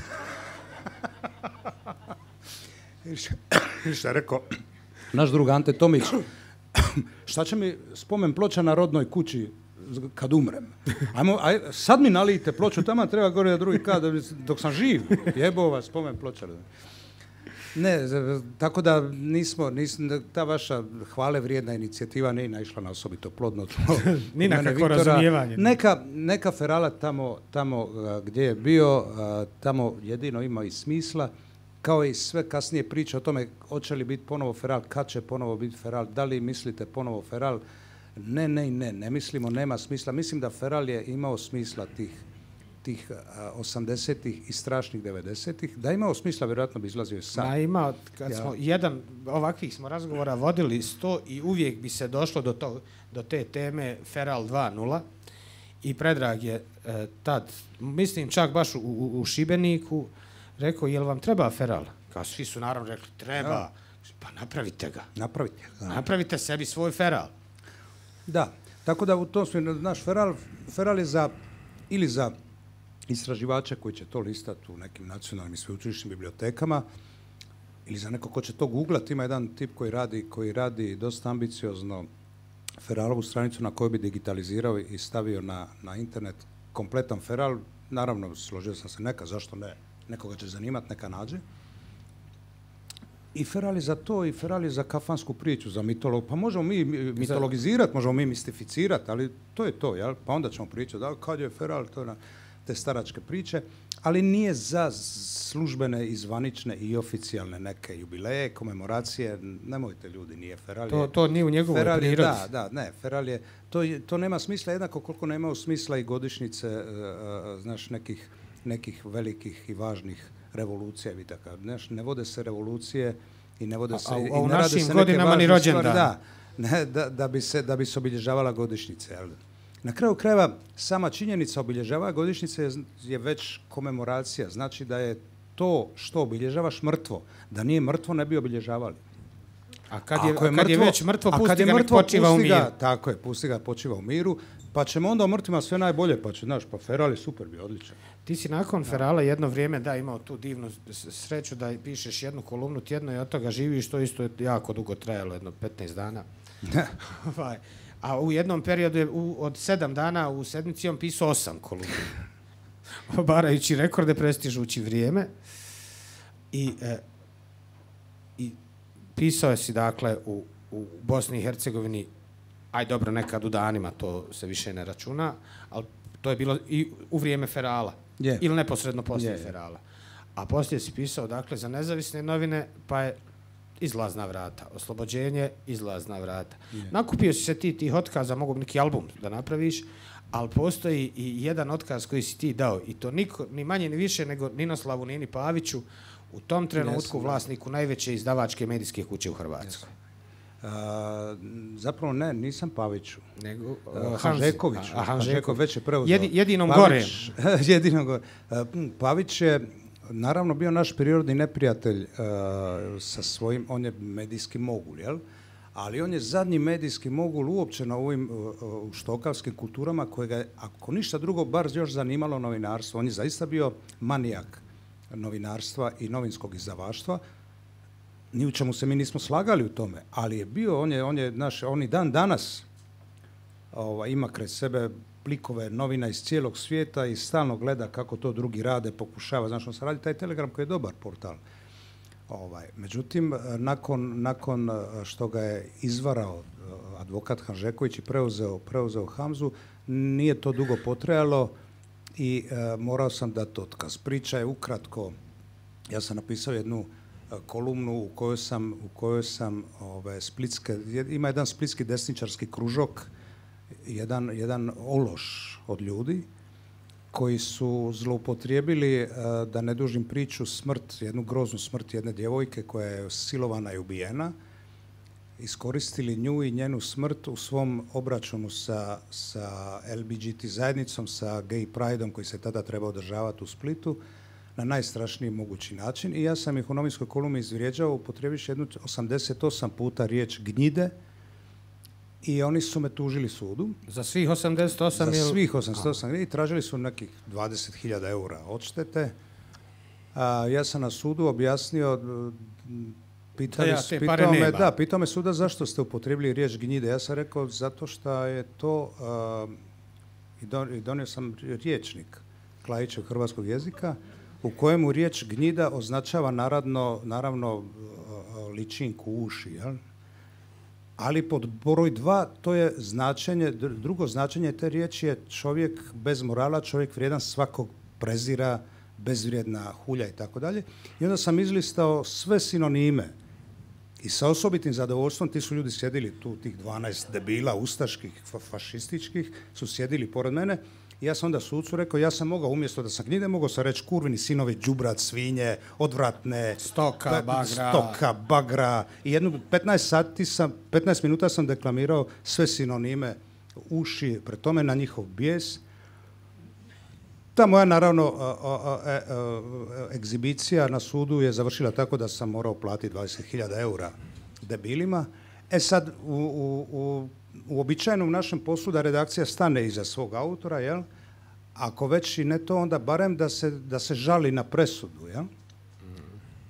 [SPEAKER 2] Šta je rekao naš drug Ante Tomić, šta će mi spomen ploča na rodnoj kući kad umrem? Sad mi nalijte ploču, tamo treba gore da drugi kada, dok sam živ, jebova spomen ploča. Ne, tako da nismo, ta vaša hvale vrijedna inicijativa nije naišla na osobito plodno tlo.
[SPEAKER 1] Ni na kakvo razumijevanje.
[SPEAKER 2] Neka Ferala tamo gdje je bio, tamo jedino ima i smisla, kao i sve kasnije priče o tome hoće li biti ponovo Feral, kad će ponovo biti Feral, da li mislite ponovo Feral. Ne mislimo, nema smisla. Mislim da feral je imao smisla tih 80-ih i strašnih 90-ih. Da je imao smisla, vjerojatno bi izlazio sam.
[SPEAKER 1] Ima, kad smo jedan ovakvih smo razgovora vodili 100 i uvijek bi se došlo do te teme Feral 2.0 i Predrag je tad, mislim čak baš u Šibeniku, rekao, jel vam treba feral? Kao svi su naravno rekli, treba. Ja. Pa napravite ga. Napravite sebi svoj feral.
[SPEAKER 2] Da, tako da u tom smislu naš feral je za istraživače koji će to listati u nekim nacionalnim i sveučilišnim bibliotekama ili za neko ko će to googlati. Ima jedan tip koji radi dosta ambiciozno feralovu stranicu na koju bi digitalizirao i stavio na internet kompletan feral. Naravno, složio sam se zašto ne, nekoga će zanimati, neka nađe. I feral je za to, i feral je za kafansku priču, za mitolog. Pa možemo mi mitologizirati, možemo mi mistificirati, ali to je to, jel? Pa onda ćemo pričati, da, kad je feral, to je te staračke priče, ali nije za službene, izvanične i oficijalne neke jubileje, komemoracije. Nemojte ljudi, nije feral.
[SPEAKER 1] To nije u njegovoj prirodi.
[SPEAKER 2] Feral je, to nema smisla jednako koliko nema smisla i godišnjice, znaš, nekih velikih i važnih revolucija. Znaš, ne vode se revolucije i ne vode se...
[SPEAKER 1] A u našim godinama ni rođendan.
[SPEAKER 2] Da bi se obilježavala godišnjice, jel? Na kraju krajeva, sama činjenica obilježavanja godišnjice je već komemoracija. Znači da je to što obilježavaš mrtvo. Da nije mrtvo, ne bi obilježavali.
[SPEAKER 1] A kad je već mrtvo, pusti ga nek počiva u miru.
[SPEAKER 2] Tako je, pusti ga počiva u miru. Pa ćemo onda o mrtvima sve najbolje, pa će, znaš, pa feral je super, bi odličan.
[SPEAKER 1] Ti si nakon ferala jedno vrijeme imao tu divnu sreću da pišeš jednu kolumnu tjedno i od toga živiš, to isto je jako dugo trajalo, jedno 15 dana. A u jednom periodu je od 7 dana u sedmici on pisao 8 kolumna. Obarajući rekorde, prestižući vrijeme. I pisao si, dakle, u Bosni i Hercegovini, aj dobro, nekad u danima, to se više ne računa, ali to je bilo i u vrijeme ferala. Ili neposredno poslije ferala. A poslije si pisao, dakle, za nezavisne novine, pa je Izlazna vrata, Oslobođenje, Izlazna vrata. Nakupio si se tih otkaza, mogu neki album da napraviš, ali postoji i jedan otkaz koji si ti dao, i to niko, ni manje ni više nego Ninoslavu Nini Paviću, u tom trenutku vlasniku najveće izdavačke medijske kuće u Hrvatskoj.
[SPEAKER 2] Zapravo ne, nisam Paviću.
[SPEAKER 1] Nego
[SPEAKER 2] Hanžekoviću. Hanžeković već je preuzeo.
[SPEAKER 1] Jedinom gore.
[SPEAKER 2] Jedinom gore. Pavić je naravno bio naš prirodni neprijatelj sa svojim, on je medijski mogul, jel? Ali on je zadnji medijski mogul uopće na ovim štokavskim kulturama kojega je, ako ništa drugo, bar još zanimalo novinarstvo. On je zaista bio manijak novinarstva i novinskog izdavaštva. Ni u čemu se mi nismo slagali u tome, ali je bio, on i dan danas ima kraj sebe plikove novina iz cijelog svijeta i stalno gleda kako to drugi rade, pokušava. Znaš, on se radi taj Telegram koji je dobar portal. Međutim, nakon što ga je izvarao advokat Hanžeković i preuzeo Hamzu, nije to dugo potrajalo i morao sam dati otkaz. Priča je ukratko, ja sam napisao jednu kolumnu u kojoj sam ima jedan splitski desničarski kružok, jedan ološ od ljudi koji su zloupotrijebili, da ne dužim priču, jednu groznu smrt jedne djevojke koja je silovana i ubijena, iskoristili nju i njenu smrt u svom obračunu sa LBGT zajednicom, sa gay prideom koji se tada treba održavati u Splitu, na najstrašniji mogući način. I ja sam ih u novinskoj kolumni izvrijeđao, upotrijebivši 88 puta riječ gnjide, i oni su me tužili sudu.
[SPEAKER 1] Za svih 88?
[SPEAKER 2] Za svih 88. I tražili su nekih 20.000 eura odštete. Ja sam na sudu objasnio, pitao me suda zašto ste upotrijebili riječ gnjide. Ja sam rekao zato što je to, i donio sam rječnik Klajićev hrvatskog jezika, u kojemu riječ gnjida označava naravno ličinku, uši, jel? Ali pod broj 2 to je značenje, drugo značenje te riječi je čovjek bez morala, čovjek vrijedan, svakog prezira, bezvrijedna, hulja i tako dalje. I onda sam izlistao sve sinonime I sa osobitim zadovoljstvom ti su ljudi sjedili tu, tih 12 debila, ustaških, fašističkih, su sjedili pored mene. I ja sam onda sucu rekao, ja sam mogao, umjesto da sam knjige, mogao sam reći kurvini sinovi, đubrat, svinje, odvratne, stoka, bagra. I 15 minuta sam deklamirao sve sinonime uši, pred tome na njihov bijes. Ta moja, naravno, egzibicija na sudu je završila tako da sam morao platiti 20.000 eura debilima. Sad, u uobičajenom našem poslu da redakcija stane iza svog autora, jel? Ako već i ne to, onda barem da se žali na presudu, jel?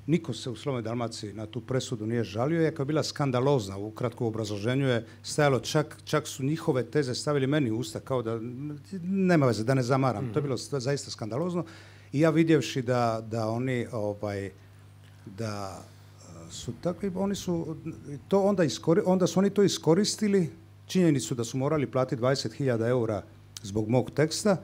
[SPEAKER 2] Niko se u Slobodnoj Dalmaciji na tu presudu nije žalio, iako je bila skandalozna. U kratkom obrazloženju je stajalo, čak su njihove teze stavili meni u usta, kao da, nema veze, da ne zamaram. To je bilo zaista skandalozno. I ja vidjevši da oni, da su takvi, oni su to onda su oni to iskoristili, činjenicu da su morali platiti 20.000 eura zbog mog teksta,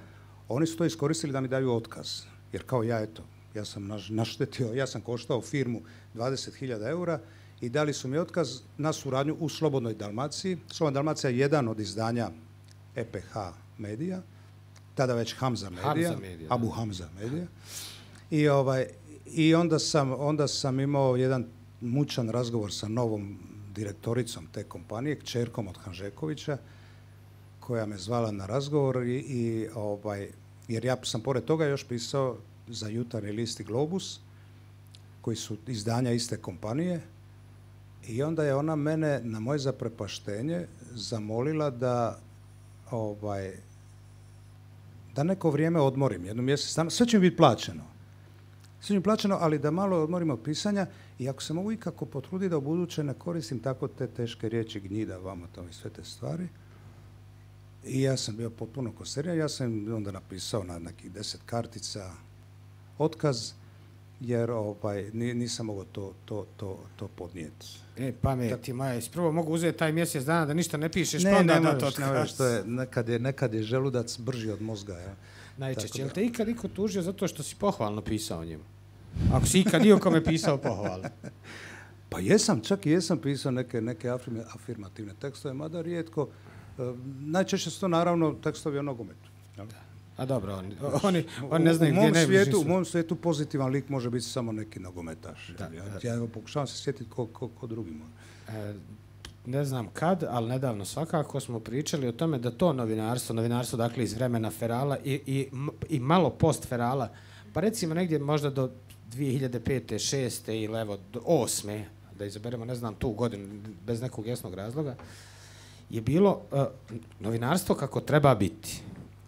[SPEAKER 2] oni su to iskoristili da mi daju otkaz. Jer kao ja sam naštetio, ja sam koštao firmu 20.000 eura i dali su mi otkaz na suradnju u Slobodnoj Dalmaciji. Slobodna Dalmacija je jedan od izdanja EPH medija, tada već Hamza medija, Abu Hamza medija. I onda sam imao jedan mučan razgovor sa novom direktoricom te kompanije, kćerkom od Hanžekovića, koja me zvala na razgovor jer ja sam pored toga još pisao za Jutarnji list i Globus, koji su izdanja iste kompanije, i onda je ona mene na moje zaprepaštenje zamolila da neko vrijeme odmorim, jedno mjesec dana. Sve će mi biti plaćeno. Ali da malo odmorim od pisanja i ako se mogu ikako potruditi da u buduće ne koristim tako te teške riječi, gnjida, vamo to i sve te stvari. I ja sam bio potpuno konsteriran. Ja sam onda napisao na nekih 10 kartica otkaz, jer nisam mogao to podnijeti.
[SPEAKER 1] Pameti moja, prvo mogu uzeti taj mjesec dana da ništa ne pišeš, pa onda dati otkaz.
[SPEAKER 2] Nekad je želudac brži od mozga. Ja.
[SPEAKER 1] Najčešće. Jel te ikad iko tužio zato što si pohvalno pisao njemu? Ako si ikad dio kome pisao pohvalno.
[SPEAKER 2] Pa čak i jesam pisao neke afirmativne tekstove, mada rijetko. Najčešće su to naravno tekstovi o nogometu.
[SPEAKER 1] A dobro, oni ne znaju gdje ne bi.
[SPEAKER 2] U mom svijetu pozitivan lik može biti samo neki nogometaš. Ja pokušavam se sjetiti ko drugi može.
[SPEAKER 1] Ne znam kad, ali nedavno svakako smo pričali o tome da to novinarstvo dakle iz vremena Ferala i malo post Ferala, pa recimo negdje možda do 2005. 6. ili evo do 8. da izaberemo, ne znam, tu godinu bez nekog jasnog razloga, je bilo novinarstvo kako treba biti.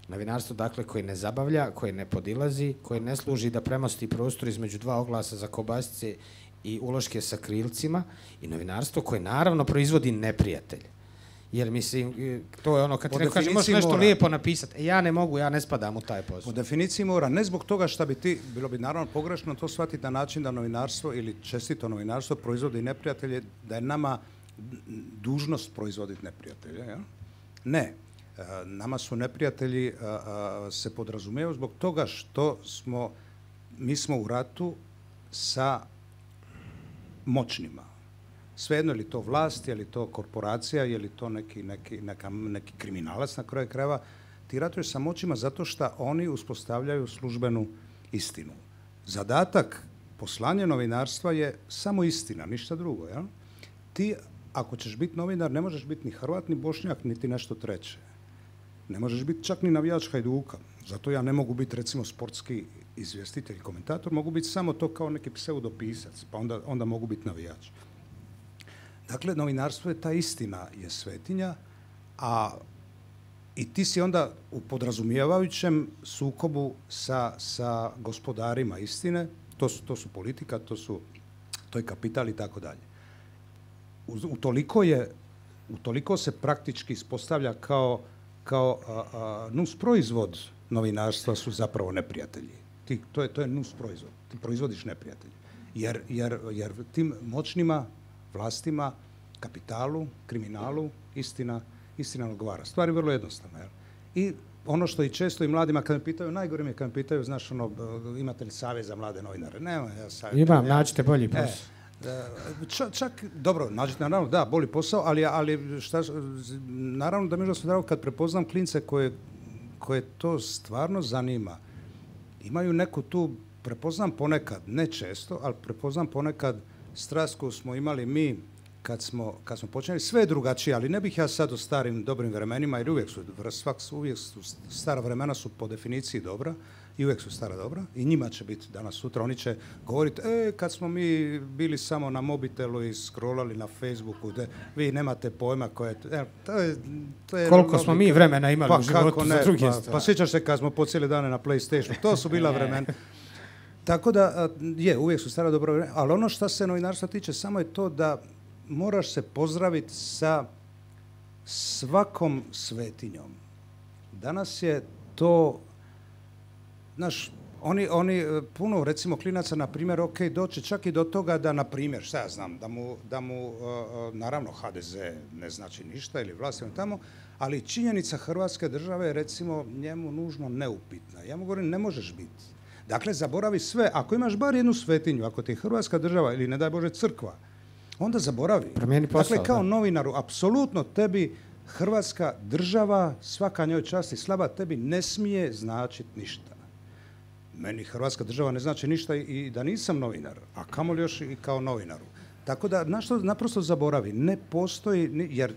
[SPEAKER 1] Novinarstvo, dakle, koje ne zabavlja, koje ne podilazi, koje ne služi da premosti prostor između dva oglasa za kobasice i uloške sa krilcima, i novinarstvo koje naravno proizvodi neprijatelj. Jer mislim, to je ono kad ti neko kaže možeš nešto lijepo napisati, ja ne mogu, ja ne spadam u taj posao.
[SPEAKER 2] Po definiciji mora, ne zbog toga šta bi ti, bilo bi naravno pogrešno to shvatiti na način da novinarstvo ili čestito novinarstvo proizvodi neprijatelje, da je nama dužnost proizvoditi neprijatelje. Ja? Ne. Nama su neprijatelji se podrazumijevaju zbog toga što mi smo u ratu sa moćnima. Svejedno, je li to vlast, je li to korporacija, je li to neki kriminalac na kraju krajeva, ti ratuješ sa moćima zato što oni uspostavljaju službenu istinu. Zadatak poslanja novinarstva je samo istina, ništa drugo. Ja? Ti, ako ćeš biti novinar, ne možeš biti ni Hrvat, ni Bošnjak, niti nešto treće. Ne možeš biti čak ni navijač Hajduka. Zato ja ne mogu biti, recimo, sportski izvjestitelj, komentator, mogu biti samo to kao neki pseudopisac, pa onda mogu biti navijač. Dakle, novinarstvo je ta istina, je svetinja, i ti si onda u podrazumijevajućem sukobu sa gospodarima istine, to su politika, to je kapital i tako dalje. Utoliko se praktički ispostavlja kao nusproizvod novinarstva su zapravo neprijatelji. To je nusproizvod. Ti proizvodiš neprijatelji. Jer tim moćnima, vlastima, kapitalu, kriminalu, istina odgovara. Stvar je vrlo jednostavna. Jel? I ono što i često i mladima kad me pitaju, najgore mi je kad me pitaju, znaš, imate li savjet za mlade novinare? Nema ja savjet.
[SPEAKER 1] Imam, nađite bolji posao.
[SPEAKER 2] Čak, dobro, naravno, da, boli posao, ali naravno da mi je drago kad prepoznam klince koje to stvarno zanima. Imaju neku tu, prepoznam ponekad, ne često, ali prepoznam ponekad strast koju smo imali mi kad smo počeli. Sve je drugačije, ali ne bih ja sad o starim dobrim vremenima, jer uvijek su stara vremena su po definiciji dobra i uvijek su stara dobra i njima će biti danas sutra. Oni će govoriti, kad smo mi bili samo na mobitelu i scrollali na Facebooku, vi nemate pojma koje to je
[SPEAKER 1] koliko smo mi vremena imali u životu za druge stvari.
[SPEAKER 2] Pa sjećaš se kad smo po cijele dane na PlayStationu, to su bila vremena. Tako da, uvijek su stara dobra vremena, ali ono što se novinarstva tiče, samo je to da moraš se pozdraviti sa svakom svetinjom. Danas je to, znaš, oni puno, recimo, klinaca, na primjer, doći čak i do toga da, na primjer, šta ja znam, da mu naravno, HDZ ne znači ništa ili vlast tamo, ali činjenica Hrvatske države je, recimo, njemu nužno neupitna. Ja mu govorim, ne možeš biti. Dakle, zaboravi sve. Ako imaš bar jednu svetinju, ako ti je Hrvatska država ili, ne daj Bože, crkva, onda zaboravi.
[SPEAKER 1] Promijeni posao,
[SPEAKER 2] dakle, kao novinaru, apsolutno tebi Hrvatska država, svaka njoj čast i slava, tebi ne smije značiti ništa. Meni Hrvatska država ne znači ništa i da nisam novinar, a kamoli još i kao novinaru. Tako da, naprosto zaboravi. Ne postoji, jer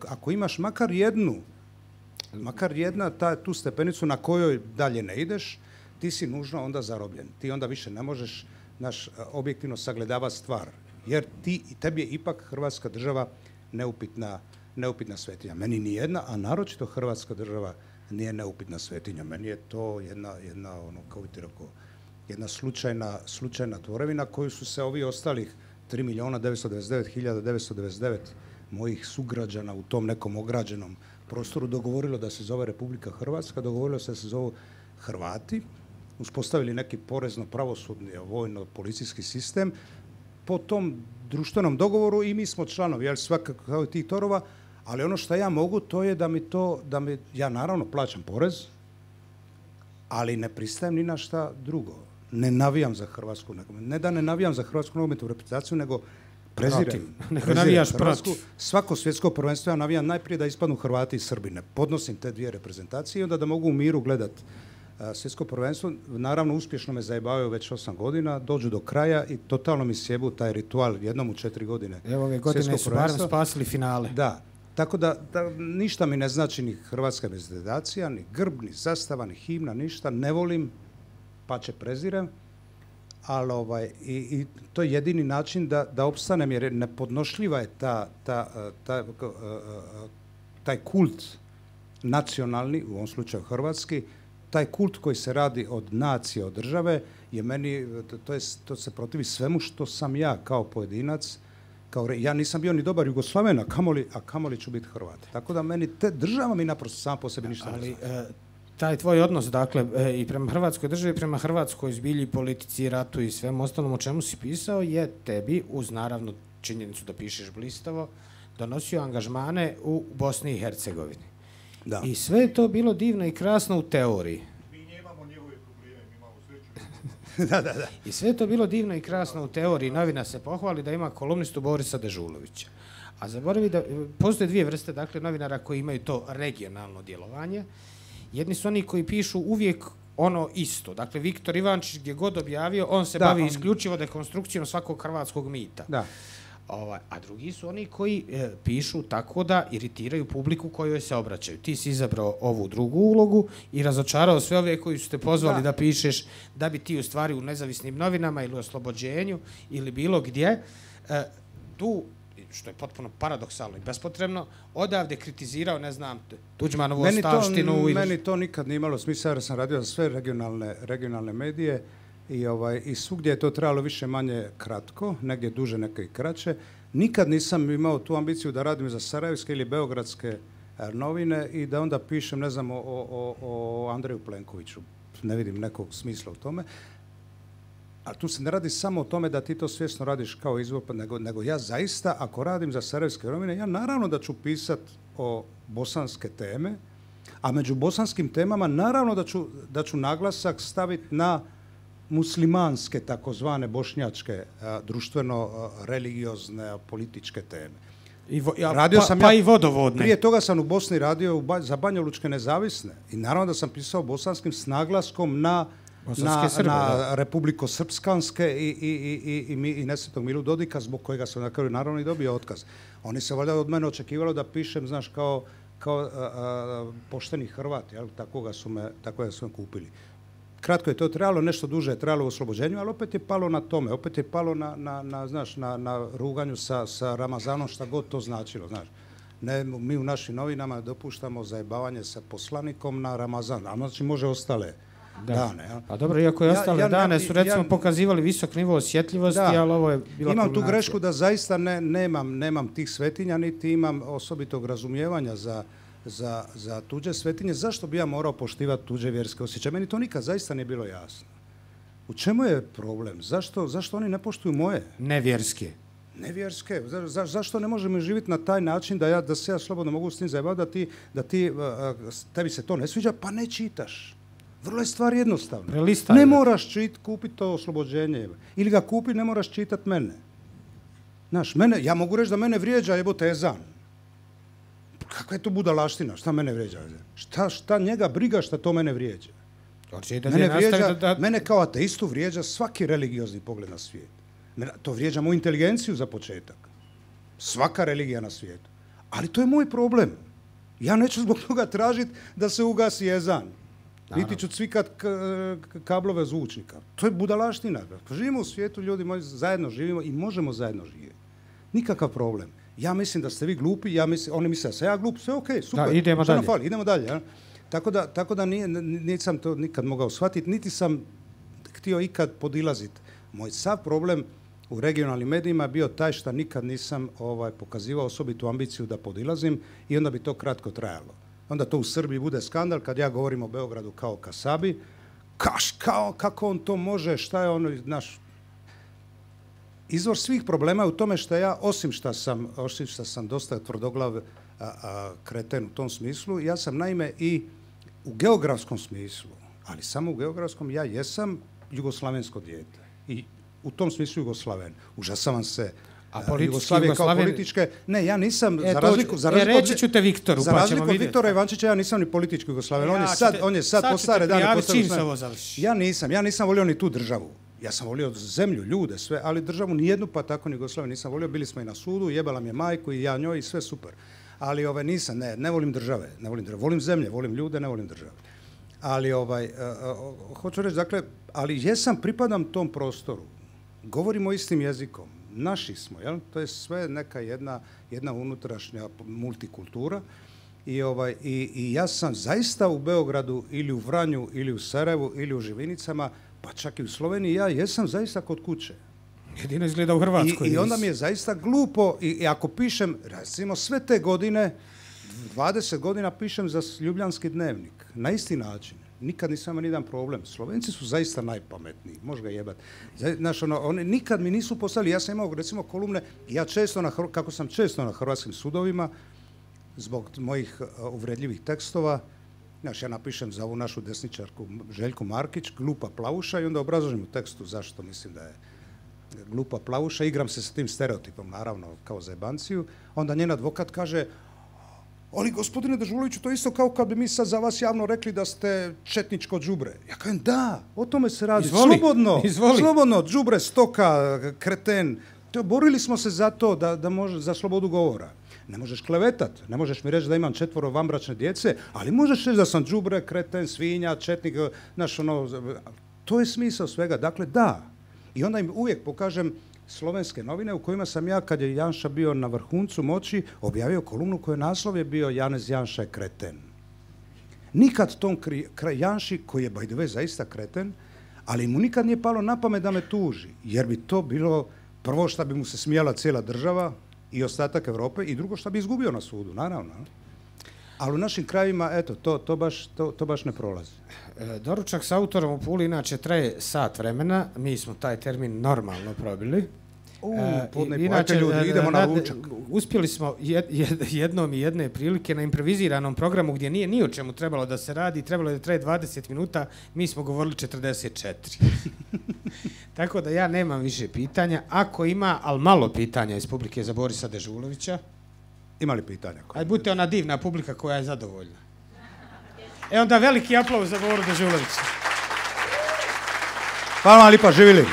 [SPEAKER 2] ako imaš makar jedna tu stepenicu na kojoj dalje ne ideš, ti si nužno onda zarobljen. Ti onda više ne možeš objektivno sagledavati stvar. Jer tebi je ipak Hrvatska država neupitna svetinja. Meni ni jedna, a naročito Hrvatska država nije neupitna svetinja. Meni je to jedna kako bi ti rekao, jedna slučajna tvorevina koju su se ovi ostalih 3.999.999 mojih sugrađana u tom nekom ograđenom prostoru dogovorilo da se zove Republika Hrvatska, dogovorilo se da se zovu Hrvati, uspostavili neki porezno-pravosudni, vojno-policijski sistem po tom društvenom dogovoru i mi smo članovi, jel, svakako kao i tih torova, ali ono što ja mogu, to je ja naravno plaćam porez, ali ne pristajem ni na šta drugo. Ne navijam za Hrvatsku, ne da ne navijam za hrvatsku nogometnu reprezentaciju, nego prezirem Hrvatsku. Svako svjetsko prvenstvo ja navijam najprije da ispadnu Hrvati i Srbi. Ne podnosim te dvije reprezentacije i onda da mogu u miru gledati svjetsko prvenstvo. Naravno, uspješno me zajebavaju već 8 godina, dođu do kraja i totalno mi sjebu taj ritual jednom u 4 godine.
[SPEAKER 1] Evo, ove godine su barem spasili finale.
[SPEAKER 2] Da, tako da ništa mi ne znači ni hrvatska reprezentacija, ni grb, ni zastava, ni himna, ništa. Ne volim, pače prezirem, ali i to je jedini način da opstanem, jer nepodnošljiva je taj kult nacionalni, u ovom slučaju hrvatski, taj kult koji se radi od nacije, od države, je meni, to se protivi svemu što sam ja kao pojedinac. Ja nisam bio ni dobar Jugoslaven, a kamoli ću biti Hrvat. Tako da meni država mi naprosto sam po sebi ništa ne znači.
[SPEAKER 1] Taj tvoj odnos, dakle, i prema Hrvatskoj državi, prema Hrvatskoj zbilji, politici, ratu i svemu ostalom o čemu si pisao, je tebi, uz naravno činjenicu da pišeš blistavo, donosio angažmane u Bosni i Hercegovini. Da. I sve je to bilo divno i krasno u teoriji.
[SPEAKER 3] Mi nemamo njegove probleme, mi imamo sreću.
[SPEAKER 2] Da.
[SPEAKER 1] I sve je to bilo divno i krasno u teoriji. Novina se pohvali da ima kolumnistu Borisa Dežulovića. A zaboravi da postoje dvije vrste, dakle, novinara koji imaju to regionalno djelovanje. Jedni su oni koji pišu uvijek ono isto. Dakle, Viktor Ivančić gdje god objavio, on se bavi isključivo dekonstrukcijom svakog hrvatskog mita.
[SPEAKER 2] Da.
[SPEAKER 1] A drugi su oni koji pišu tako da iritiraju publiku kojoj se obraćaju. Ti si izabrao ovu drugu ulogu i razočarao sve ove koji su te pozvali da pišeš, da bi ti u stvari u nezavisnim novinama ili u Oslobođenju ili bilo gdje tu, što je potpuno paradoksalno i bespotrebno, odavde kritizirao, ne znam, Tuđmanovu ostavštinu.
[SPEAKER 2] Meni to nikad nije imalo smisla, jer sam radio za sve regionalne medije i svugdje je to trebalo više manje kratko, negdje duže, neke i kraće. Nikad nisam imao tu ambiciju da radim za sarajevske ili beogradske novine i da onda pišem, ne znam, o Andreju Plenkoviću. Ne vidim nekog smisla u tome. Ali tu se ne radi samo o tome da ti to svjesno radiš kao izvor, nego ja zaista, ako radim za sarajevske novine, ja naravno da ću pisati o bosanske teme, a među bosanskim temama naravno da ću naglasak staviti muslimanske, takozvane bošnjačke, društveno-religiozne, političke teme.
[SPEAKER 1] I vodovodne.
[SPEAKER 2] Prije toga sam u Bosni radio za Banjalučke nezavisne i naravno da sam pisao bosanskim s naglaskom na republiko-srpskanske i Nesretnog Milu Dodika, zbog kojega sam na kraju naravno i dobio otkaz. Oni se valjda od mene očekivalo da pišem, znaš, kao pošteni Hrvat, jel? Tako su me kupili. Kratko je to trajalo, nešto duže je trajalo u oslobođenju, ali opet je palo na tome, opet je palo na ruganju sa Ramazanom, šta god to značilo, znaš. Ne, mi u našim novinama dopuštamo zajebavanje sa poslanikom na Ramazan, a znači može ostale dane. Ja.
[SPEAKER 1] A dobro, iako je ostale dane su recimo pokazivali visok nivo osjetljivosti, ali ovo je bila
[SPEAKER 2] imam tu grešku da zaista nemam tih svetinja, niti imam osobitog razumijevanja za tuđe svetinje. Zašto bi ja morao poštivati tuđe vjerske osjećaje? Meni to nikad zaista nije bilo jasno. U čemu je problem? Zašto oni ne poštuju moje?
[SPEAKER 1] Nevjerske.
[SPEAKER 2] Nevjerske. Zašto ne možemo živjeti na taj način da se ja slobodno mogu s tim zajebati, da tebi se to ne sviđa, pa ne čitaš. Vrlo je stvar jednostavna. Ne moraš kupiti to oslobođenje. Ili ga kupi, ne moraš čitati mene. Znaš, ja mogu reći da mene vrijeđa jebote ezan. Kakva je to budalaština? Šta mene vrijeđa? Šta njega briga šta to mene vrijeđa? Mene kao ateistu vrijeđa svaki religiozni pogled na svijet. To vrijeđa moju inteligenciju za početak. Svaka religija na svijetu. Ali to je moj problem. Ja neću zbog toga tražiti da se ugasi ezan. Niti ću cvikat kablove zvučnika. To je budalaština. Živimo u svijetu, ljudi moji, zajedno živimo i možemo zajedno živjeti. Nikakav problem. Ja mislim da ste vi glupi, oni misle da sam ja glup, sve okej, super.
[SPEAKER 1] Da, idemo dalje.
[SPEAKER 2] Idemo dalje. Ja? Tako da nisam to nikad mogao shvatiti, niti sam htio ikad podilaziti. Moj sav problem u regionalnim medijima je bio taj što nikad nisam pokazivao osobitu ambiciju da podilazim i onda bi to kratko trajalo. Onda to u Srbiji bude skandal kad ja govorim o Beogradu kao Kasabi. Kako on to može, šta je ono, naš... Izvor svih problema je u tome što ja, osim što sam dosta tvrdoglav kreten u tom smislu, ja sam naime i u geografskom smislu, ali samo u geografskom, ja jesam jugoslavensko dijete. I u tom smislu Jugoslaven. Užasavam se Jugoslavije kao političke. Ne, ja nisam,
[SPEAKER 1] reći ću te Viktoru,
[SPEAKER 2] za razliku od Viktora Ivančića, ja nisam ni politički Jugoslaven. On je sad po stare dane. Ja nisam volio ni tu državu. Ja sam volio zemlju, ljude, sve, ali državu nijednu, pa tako ni Jugoslaviju nisam volio. Bili smo i na sudu, jebala mi je majku i ja njoj i sve super. Ali nisam, ne volim države, volim zemlje, volim ljude, ne volim države. Ali hoću reći, dakle, ali jesam, pripadam tom prostoru. Govorimo istim jezikom. Naši smo, jel? To je sve neka jedna unutrašnja multikultura. I ja sam zaista u Beogradu ili u Vranju ili u Sarajevu ili u Živinicama, pa čak i u Sloveniji, ja jesam zaista kod kuće.
[SPEAKER 1] Jedino izgleda u Hrvatskoj.
[SPEAKER 2] I onda mi je zaista glupo, i ako pišem, recimo sve te godine, 20 godina pišem za Ljubljanski dnevnik, na isti način. Nikad nisam imao nijedan problem. Slovenci su zaista najpametniji, može ga jebati. Znaš, oni nikad mi nisu poslali, ja sam imao recimo kolumne, kako sam često na hrvatskim sudovima, zbog mojih uvredljivih tekstova, znaš, ja napišem za ovu našu desničarku Željku Markić, glupa plavuša, i onda obrazložim u tekstu zašto mislim da je glupa plavuša, igram se sa tim stereotipom, naravno, kao za jebanciju, onda njen advokat kaže: ali gospodine Dežuloviću, to je isto kao kad bi mi sad za vas javno rekli da ste četničko đubre. Ja kažem, da, o tome se radi. Slobodno, đubre, stoka, kreten. Borili smo se za to za slobodu govora. Ne možeš klevetat, ne možeš mi reći da imam 4 vanbračne djece, ali možeš reći da sam đubre, kreten, svinja, četnik, to je smisao svega. Dakle, da. I onda im uvijek pokažem slovenske novine u kojima sam ja, kad je Janša bio na vrhuncu moći, objavio kolumnu koja naslov je bio Janez Janša je kreten. Nikad tom Janši, koji je by the way zaista kreten, ali mu nikad nije palo na pamet da me tuži, jer bi to bilo prvo što bi mu se smijala cijela država i ostatak Europe, i drugo što bi izgubio na sudu, naravno. Ali u našim krajevima, eto, to baš ne prolazi.
[SPEAKER 1] Doručak s autorom u Puli inače traje sat vremena, mi smo taj termin normalno probili.
[SPEAKER 2] Podne
[SPEAKER 1] Inače,
[SPEAKER 2] pojate ljudi, idemo na ručak.
[SPEAKER 1] uspjeli smo jednom i jedne prilike na improviziranom programu gdje nije ni o čemu trebalo da se radi, trebalo je da traje 20 minuta, mi smo govorili 44. Tako da ja nemam više pitanja. Ako ima, ali malo pitanja iz publike za Borisa Dežulovića.
[SPEAKER 2] Ima li pitanja?
[SPEAKER 1] Ajde, budite ona divna publika koja je zadovoljna. Onda veliki aplauz za Boru Dežulovića.
[SPEAKER 2] Hvala vam lipa, živjeli.